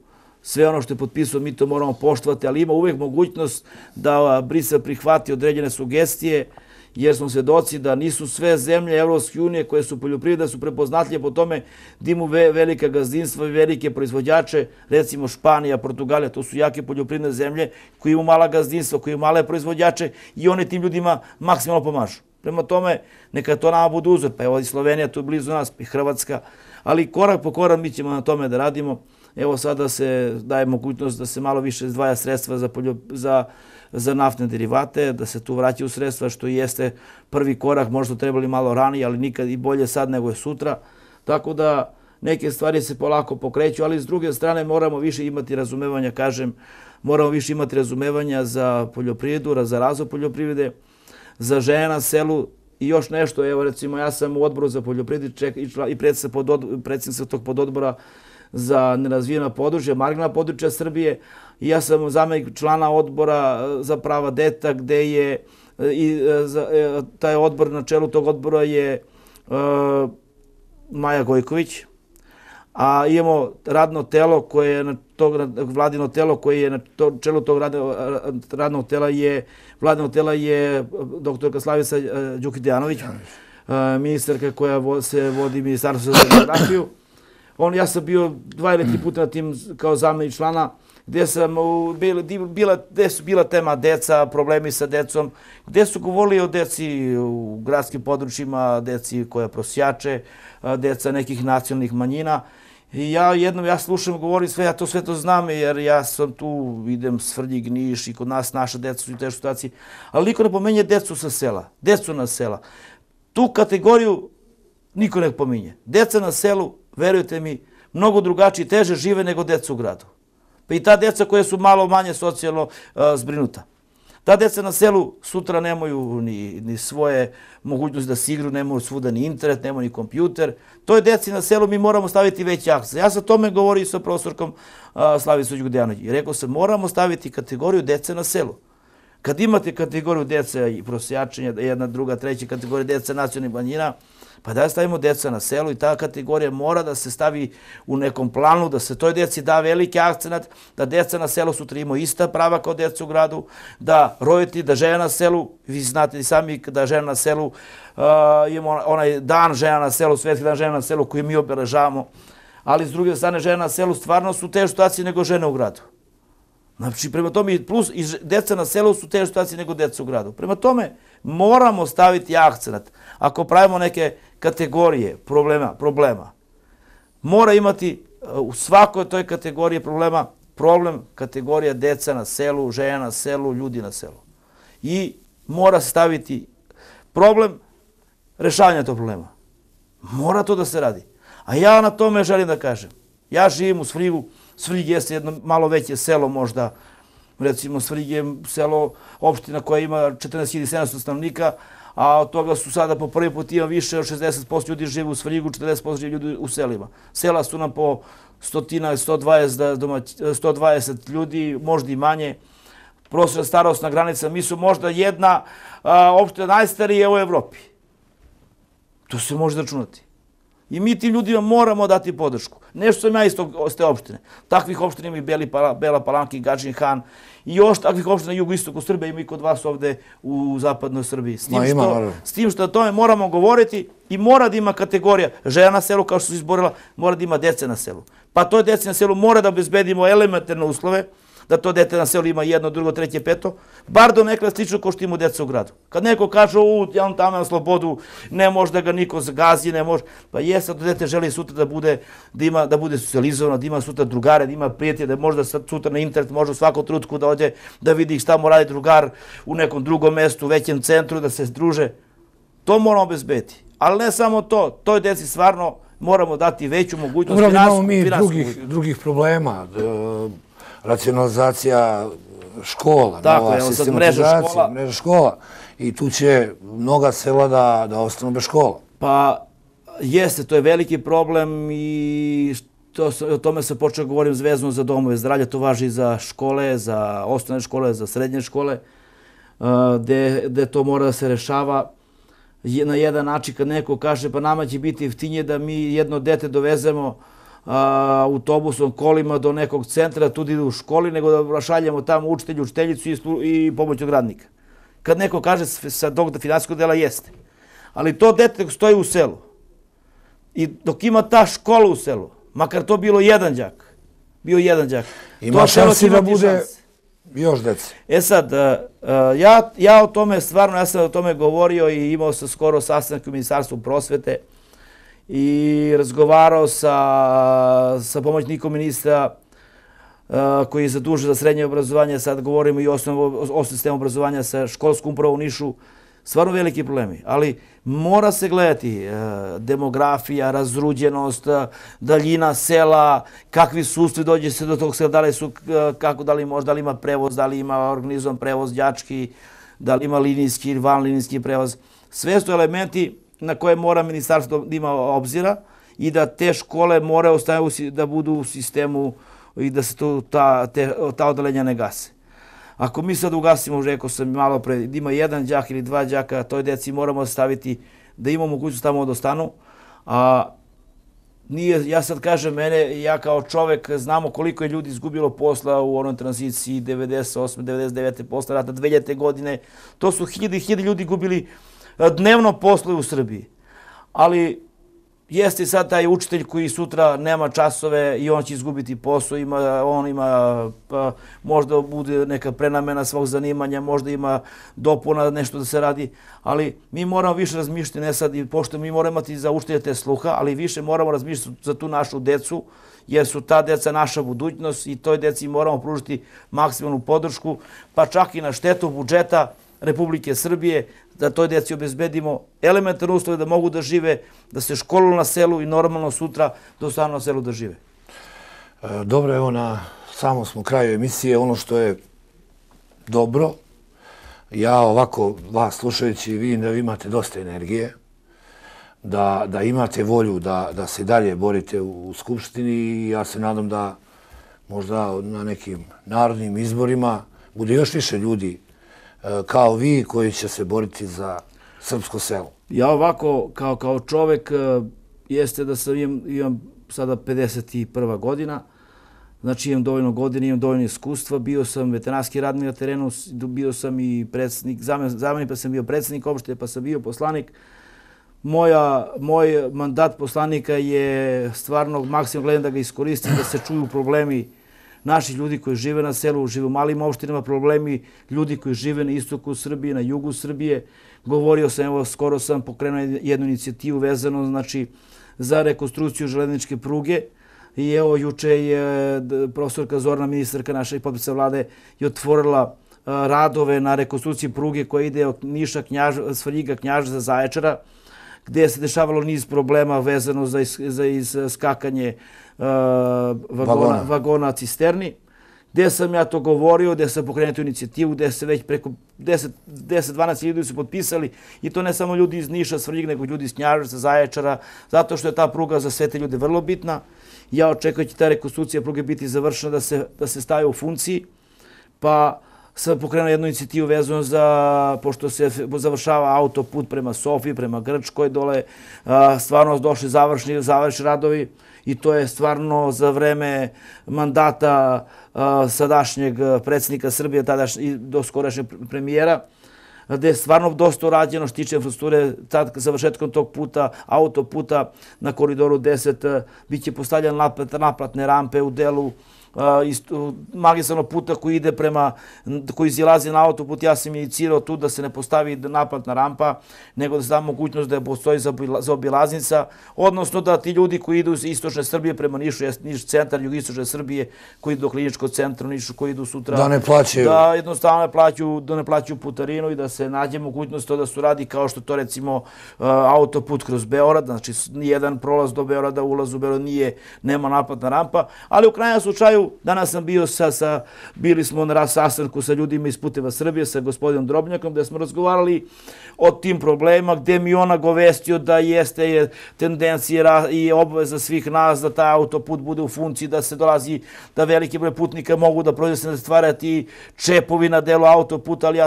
sve ono što je potpisao, mi to moramo poštovati, ali ima uvijek mogućnost da Brisel prihvati određene sugestije, jer smo svedoci da nisu sve zemlje Evropske unije koje su poljoprivrede, su prepoznatljive po tome da imaju velika gazdinstva i velike proizvođače, recimo Španija, Portugalija, to su jake poljoprivredne zemlje koji imaju mala gazdinstva, koji imaju male proizvođače i oni tim ljudima maksimalno pomažu. Prema tome, neka to nama bude uzor, pa evo i Slovenija tu blizu nas, i Hrvatska, ali korak po korak mi ćemo na tome da radimo. Evo sada se daje mogućnost da se malo više izdvaja sredstva za naftne derivate, da se tu vraćaju sredstva, što jeste prvi korak, možda trebali malo ranije, ali nikad i bolje sad nego je sutra. Tako da neke stvari se polako pokreću, ali s druge strane moramo više imati razumevanja, kažem, moramo više imati razumevanja za poljoprivredu, za razvoj poljoprivrede, za žene na selu i još nešto. Evo recimo ja sam u odboru za poljoprivredu i predsjednik sam tog pododbora za nerazvijena područja, marginalna područja Srbije. I ja sam zamjenik člana odbora za prava deta, gde je taj odbor, na čelu tog odbora je Maja Gojković, a imamo radno telo koje je vladino telo koje je na čelu tog radnog tela je doktorka Slavica Đukić-Dejanović, ministarka koja se vodi Ministarstvo za demografiju. Ja sam bio 2 ili 3 puta na tim kao zamjenik člana, gdje su bila tema deca, problemi sa decom, gdje su govorili o deci u gradskim područjima, deci koja prosjače, deca nekih nacionalnih manjina. I ja slušam, govorim sve, ja to sve to znam, jer ja sam tu, idem Svrljig, Niš i kod nas naša deca su u teškoj situaciji, ali niko ne pominje decu sa sela, decu na sela. Tu kategoriju niko ne pominje. Deca na selu, verujte mi, mnogo drugačije i teže žive nego deca u gradu. Pa i ta deca koja su malo manje socijalno zbrinuta. Ta deca na selu sutra nemaju ni svoje mogućnosti da se igru, nemaju svuda ni internet, nemaju ni kompjuter. To je deci na selu, mi moramo staviti veći akcent. Ja sam tome govorio sa profesorkom Slavicom Đugdjanović. I rekao sam, moramo staviti kategoriju dece na selu. Kad imate kategoriju dece i prosjačenja, jedna, druga, treća kategorija dece nacionalnih manjina, pa da stavimo deca na selu i ta kategorija mora da se stavi u nekom planu, da se toj deci da veliki akcenat, da deca na selu sutra imaju ista prava kao deca u gradu, da roditelji, da žena na selu, vi znate i sami da žena na selu, imamo onaj dan žena na selu, svetski dan žena na selu koji mi obeležavamo, ali s druge strane žena na selu stvarno su u težoj situaciji nego žene u gradu. Znači, prema tome, plus i deca na selu su u težoj situaciji nego deca u gradu. Prema tome, moramo staviti akcenat. Ako pravimo neke kategorije problema, mora imati u svakoj toj kategoriji problema problem kategorija deca na selu, žena na selu, ljudi na selu. I mora se staviti problem rešavanja tog problema. Mora to da se radi. A ja na tome želim da kažem. Ja živim u Svrljigu. Svrljig jeste jedno malo veće selo možda. Recimo Svrljig je selo, opština koja ima 14.700 stanovnika, a od toga su sada po prvi put ima više od 60% ljudi žive u Svrljigu, 40% žive ljudi u selima. Sela su nam po 120 ljudi, možda i manje. Prosječna starosna granica, mi su možda jedna opština najstarije u Evropi. To se može računati. I mi tim ljudima moramo dati podršku. Nešto sam ja iz te opštine. Takvih opština ima i Bela Palanka i Gadžin Han. I još takvih opština na jugoistoku Srbije ima i kod vas ovde u zapadnoj Srbiji. S tim što o tome moramo govoriti i mora da ima kategorija žena na selu, kao što su izborila, mora da ima dece na selu. Pa toj deci na selu mora da obezbedimo elementarne uslove, da to dete na selu ima jedno, drugo, treće, peto, bar do nekada slično kao što ima deca u gradu. Kad neko kaže, ja on tamo na slobodu, ne može da ga niko zgazi, ne može, pa jeste, to dete želi sutra da bude socijalizovano, da ima sutra drugare, da ima prijatelje, da može da sutra na internet, može u svakom trenutku da ode, da vidi šta mu radi drugar u nekom drugom mestu, u većem centru, da se druže. To moramo obezbediti. Ali ne samo to, toj deci stvarno moramo dati veću mogućnost finansijsku. Imamo mi drugih problema. Racionalizacija škola, nova sistematizacija, mreža škola. I tu će mnoga sela da ostanu bez škola. Pa jeste, to je veliki problem i o tome se počeo govorim vezano za domove zdravlja. To važi za škole, za osnovne škole, za srednje škole, gde to mora da se rešava na jedan način. Kad neko kaže pa nama će biti jeftinije da mi jedno dete dovezemo autobusom, kolima do nekog centra, tu da idu u školi, nego da šaljemo tamo učitelju, učiteljicu i pomoćnog radnika. Kad neko kaže sa tog finansijskog dela jeste. Ali to dete stoji u selu i dok ima ta škola u selu, makar to bilo jedan đak, ima šansi da bude još dece. Sad, ja o tome stvarno, ja sam o tome govorio i imao sam skoro sastanak u Ministarstvu prosvete i razgovarao sa pomoćnikom ministra koji je zadužen za srednje obrazovanje, sad govorimo i o osnovnom sistemu obrazovanja sa školskom upravom u Nišu, stvarno veliki problemi, ali mora se gledati demografija, razruđenost, daljina sela, kakvi su uslovi dođe se do tog sela, da li ima prevoz, da li ima organizovan prevoz đački, da li ima linijski ili vanlinijski prevoz. Sve su elementi na koje mora ministarstvo da ima obzira i da te škole moraju da budu u sistemu i da se ta odeljenja ne gase. Ako mi sad ugasimo, rekao sam malo pre, da ima jedan đak ili dva đaka, toj deci moramo staviti da imamo mogućnost tamo da ostanu. Ja sad kažem, ja kao čovek znamo koliko je ljudi izgubilo posla u onoj tranziciji 98. 99. posle rata 2000. godine. To su hiljade i hiljade ljudi gubili dnevno posle u Srbiji. Ali jeste sad taj učitelj koji sutra nema časove i on će izgubiti posao, on ima, možda bude neka prenamena svog zanimanja, možda ima dopuna nešto da se radi, ali mi moramo više razmišljati, ne sad, pošto mi moramo imati za učitelje te sluha, ali više moramo razmišljati za tu našu decu, jer su ta deca naša budućnost i toj deci moramo pružiti maksimalnu podršku, pa čak i na štetu budžeta Republike Srbije, da toj deci obezbedimo elementarne uslove da mogu da žive, da se školuju na selu i normalno sutra da ostanu na selu da žive. Dobro, evo na samom smo kraju emisije. Ono što je dobro, ja ovako vas slušajući, vidim da vi imate dosta energije, da imate volju da se dalje borite u Skupštini i ja se nadam da možda na nekim narodnim izborima bude još više ljudi kao vi koji će se boriti za srpsko selo. Ja ovako, kao čovek, jeste da sam imam sada 51. godina, znači imam dovoljno godina, imam dovoljno iskustva, bio sam veteranski radnik na terenu, bio sam i predsjednik, zamenik pa sam bio predsjednik opštine, pa sam bio poslanik. Moj mandat poslanika je stvarno maksimalno gledam da ga iskoristim, da se čuju problemi naših ljudi koji žive na selu, žive u malim opštinama, problemi ljudi koji žive na istoku Srbije, na jugu Srbije. Govorio sam, evo, skoro sam pokrenuo jednu inicijativu vezano, znači, za rekonstrukciju železničke pruge. I evo, juče je profesorka Zorana, ministarka naša i potpredsednica vlade, je otvorila radove na rekonstrukciji pruge koja ide od Niša, Svrljiga, Knjaževca, Zaječara, gdje se dešavalo niz problema vezano za iskakanje vagona cisterni, gdje sam ja to govorio, gdje sam pokrenuo tu inicijativu, gdje se već preko 10-12 ljudi su potpisali i to ne samo ljudi iz Niša, Svrljiga, nego ljudi iz Knjaževca, Zaječara, zato što je ta pruga za sve te ljude vrlo bitna. Ja očekujem da će ta rekonstrukcija pruge biti završena, da se staje u funkciji, pa sam pokrenuo jednu inicijativu vezano za, pošto se završava autoput prema Sofiji, prema Grčkoj, dole stvarno došli završni radovi i to je stvarno za vreme mandata sadašnjeg predsjednika Srbije, tadašnjeg do skorašnjeg premijera, gde je stvarno dosta urađeno što tiče infrastrukture. Tad, završetkom tog puta, autoputa na koridoru 10, bit će postavljene naplatne rampe u delu magistralnog puta koji izlazi na autoput. Ja sam inicirao tu da se ne postavi naplatna rampa, nego da se da mogućnost da postoji za obilaznica, odnosno da ti ljudi koji idu iz istočne Srbije prema Nišu, Niš centar, jugoistočne Srbije, koji idu do kliničkog centra u Nišu, koji idu sutra, da ne plaćaju, da jednostavno ne plaćaju putarinu i da se nađe mogućnost to da se radi kao što to recimo autoput kroz Beograd, znači nijedan prolaz do Beograda, ulaz u Beograd nema naplatna rampa, ali u krajnjem slučaju danas sam bio bili smo na sastanku sa ljudima iz Puteva Srbije, sa gospodinom Drobnjakom, gde smo razgovarali o tim problemima, gde mi on nagovestio da jeste tendencija i obaveza svih nas da taj autoput bude u funkciji, da se dolazi, da veliki broj putnika mogu da prođe, da stvarati čepovi na delu autoputa, ali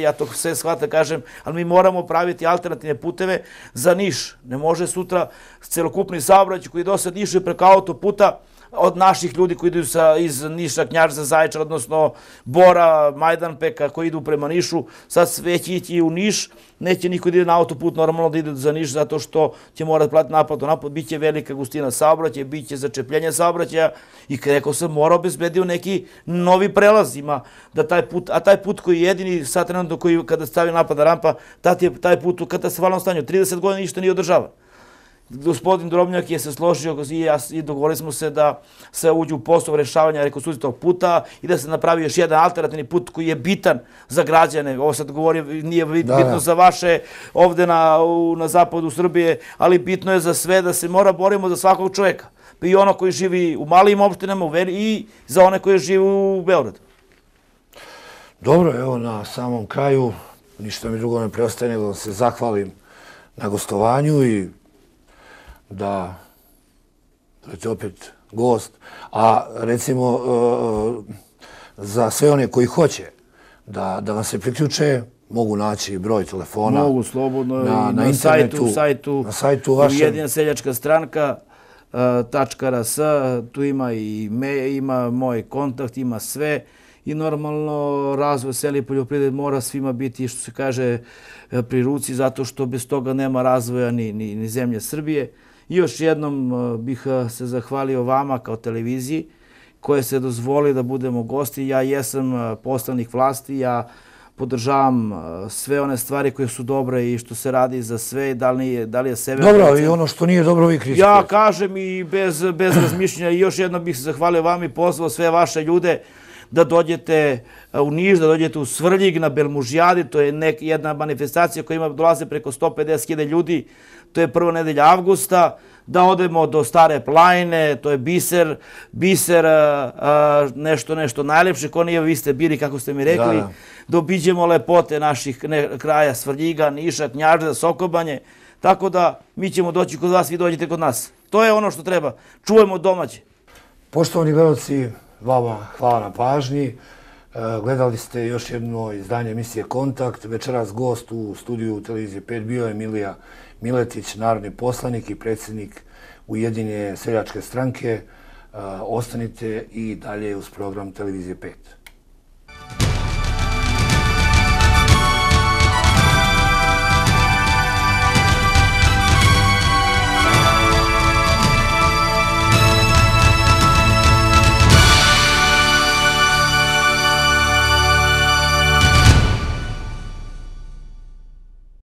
ja to sve shvatam, kažem, ali mi moramo praviti alternativne puteve za Niš. Ne može sutra celokupni saobraćaj koji do sad išao preko autoputa od naših ljudi koji idu iz Niša, Knjaževca, Zaječara, odnosno Bora, Majdanpeka, koji idu prema Nišu, sad već ići u Niš, neće niko da ide na autoput, normalno da ide za Niš, zato što će morati platiti naplatnu, bit će velika gustina saobraćaja, bit će začepljenje saobraćaja i rekao sam, mora obezbedio neki novi prelaz, a taj put koji je jedini sad trenutno koji kada stavi naplatna rampa, taj put u katastrofalnom stanju, 30 godina ništa nije održavan. Gospodin Drobnjak je se složio i dogovorili smo se da se uđe u posao rešavanja rekonstrukcije tog puta i da se napravi još jedan alternativni put koji je bitan za građane. Ovo sad govorim, nije bitno za vaše ovde na zapadu Srbije, ali bitno je za sve da se mora borimo za svakog čoveka. I ono koji živi u malim opštinama i za one koji žive u Beogradu. Dobro, evo na samom kraju, ništa mi drugo ne preostaje nego da se zahvalim na gostovanju i da budete opet gost, a recimo za sve one koji hoće da vam se priključe, mogu naći broj telefona. Mogu slobodno na internetu, na sajtu vašem. Ujedinjena seljačka stranka.rs, tu ima moj kontakt, ima sve i normalno razvoj sela i poljoprivrede mora svima biti, što se kaže, pri ruci, zato što bez toga nema razvoja ni zemlje Srbije. I još jednom bih se zahvalio vama kao televiziji koje se dozvoli da budemo gosti. Ja jesam poslanik vlasti, ja podržavam sve one stvari koje su dobre i što se radi za sve, da li je sebe... Dobro, i ono što nije dobro vi kritikujete. Ja kažem i bez razmišljenja i još jednom bih se zahvalio vam i pozvao sve vaše ljude da dođete u Niš, da dođete u Svrljig na Belmužijadi, to je jedna manifestacija koja dolaze preko 150.000 ljudi, to je prva nedelja avgusta, da odemo do Stare planine, to je biser, nešto najlepše, ko nije, vi ste bili, kako ste mi rekli, da obiđemo lepote naših kraja Svrljiga, Niša, Knjaževca, Sokobanje, tako da mi ćemo doći kod vas, vi dođete kod nas. To je ono što treba, čuvajmo domaće. Poštovani gledalci, vama hvala na pažnji. Gledali ste još jedno izdanje emisije Kontakt. Večeras gost u studiju Televizije 5 bio je Milija Miletić, narodni poslanik i predsjednik Ujedinjene seljačke stranke. Ostanite i dalje uz program Televizije 5.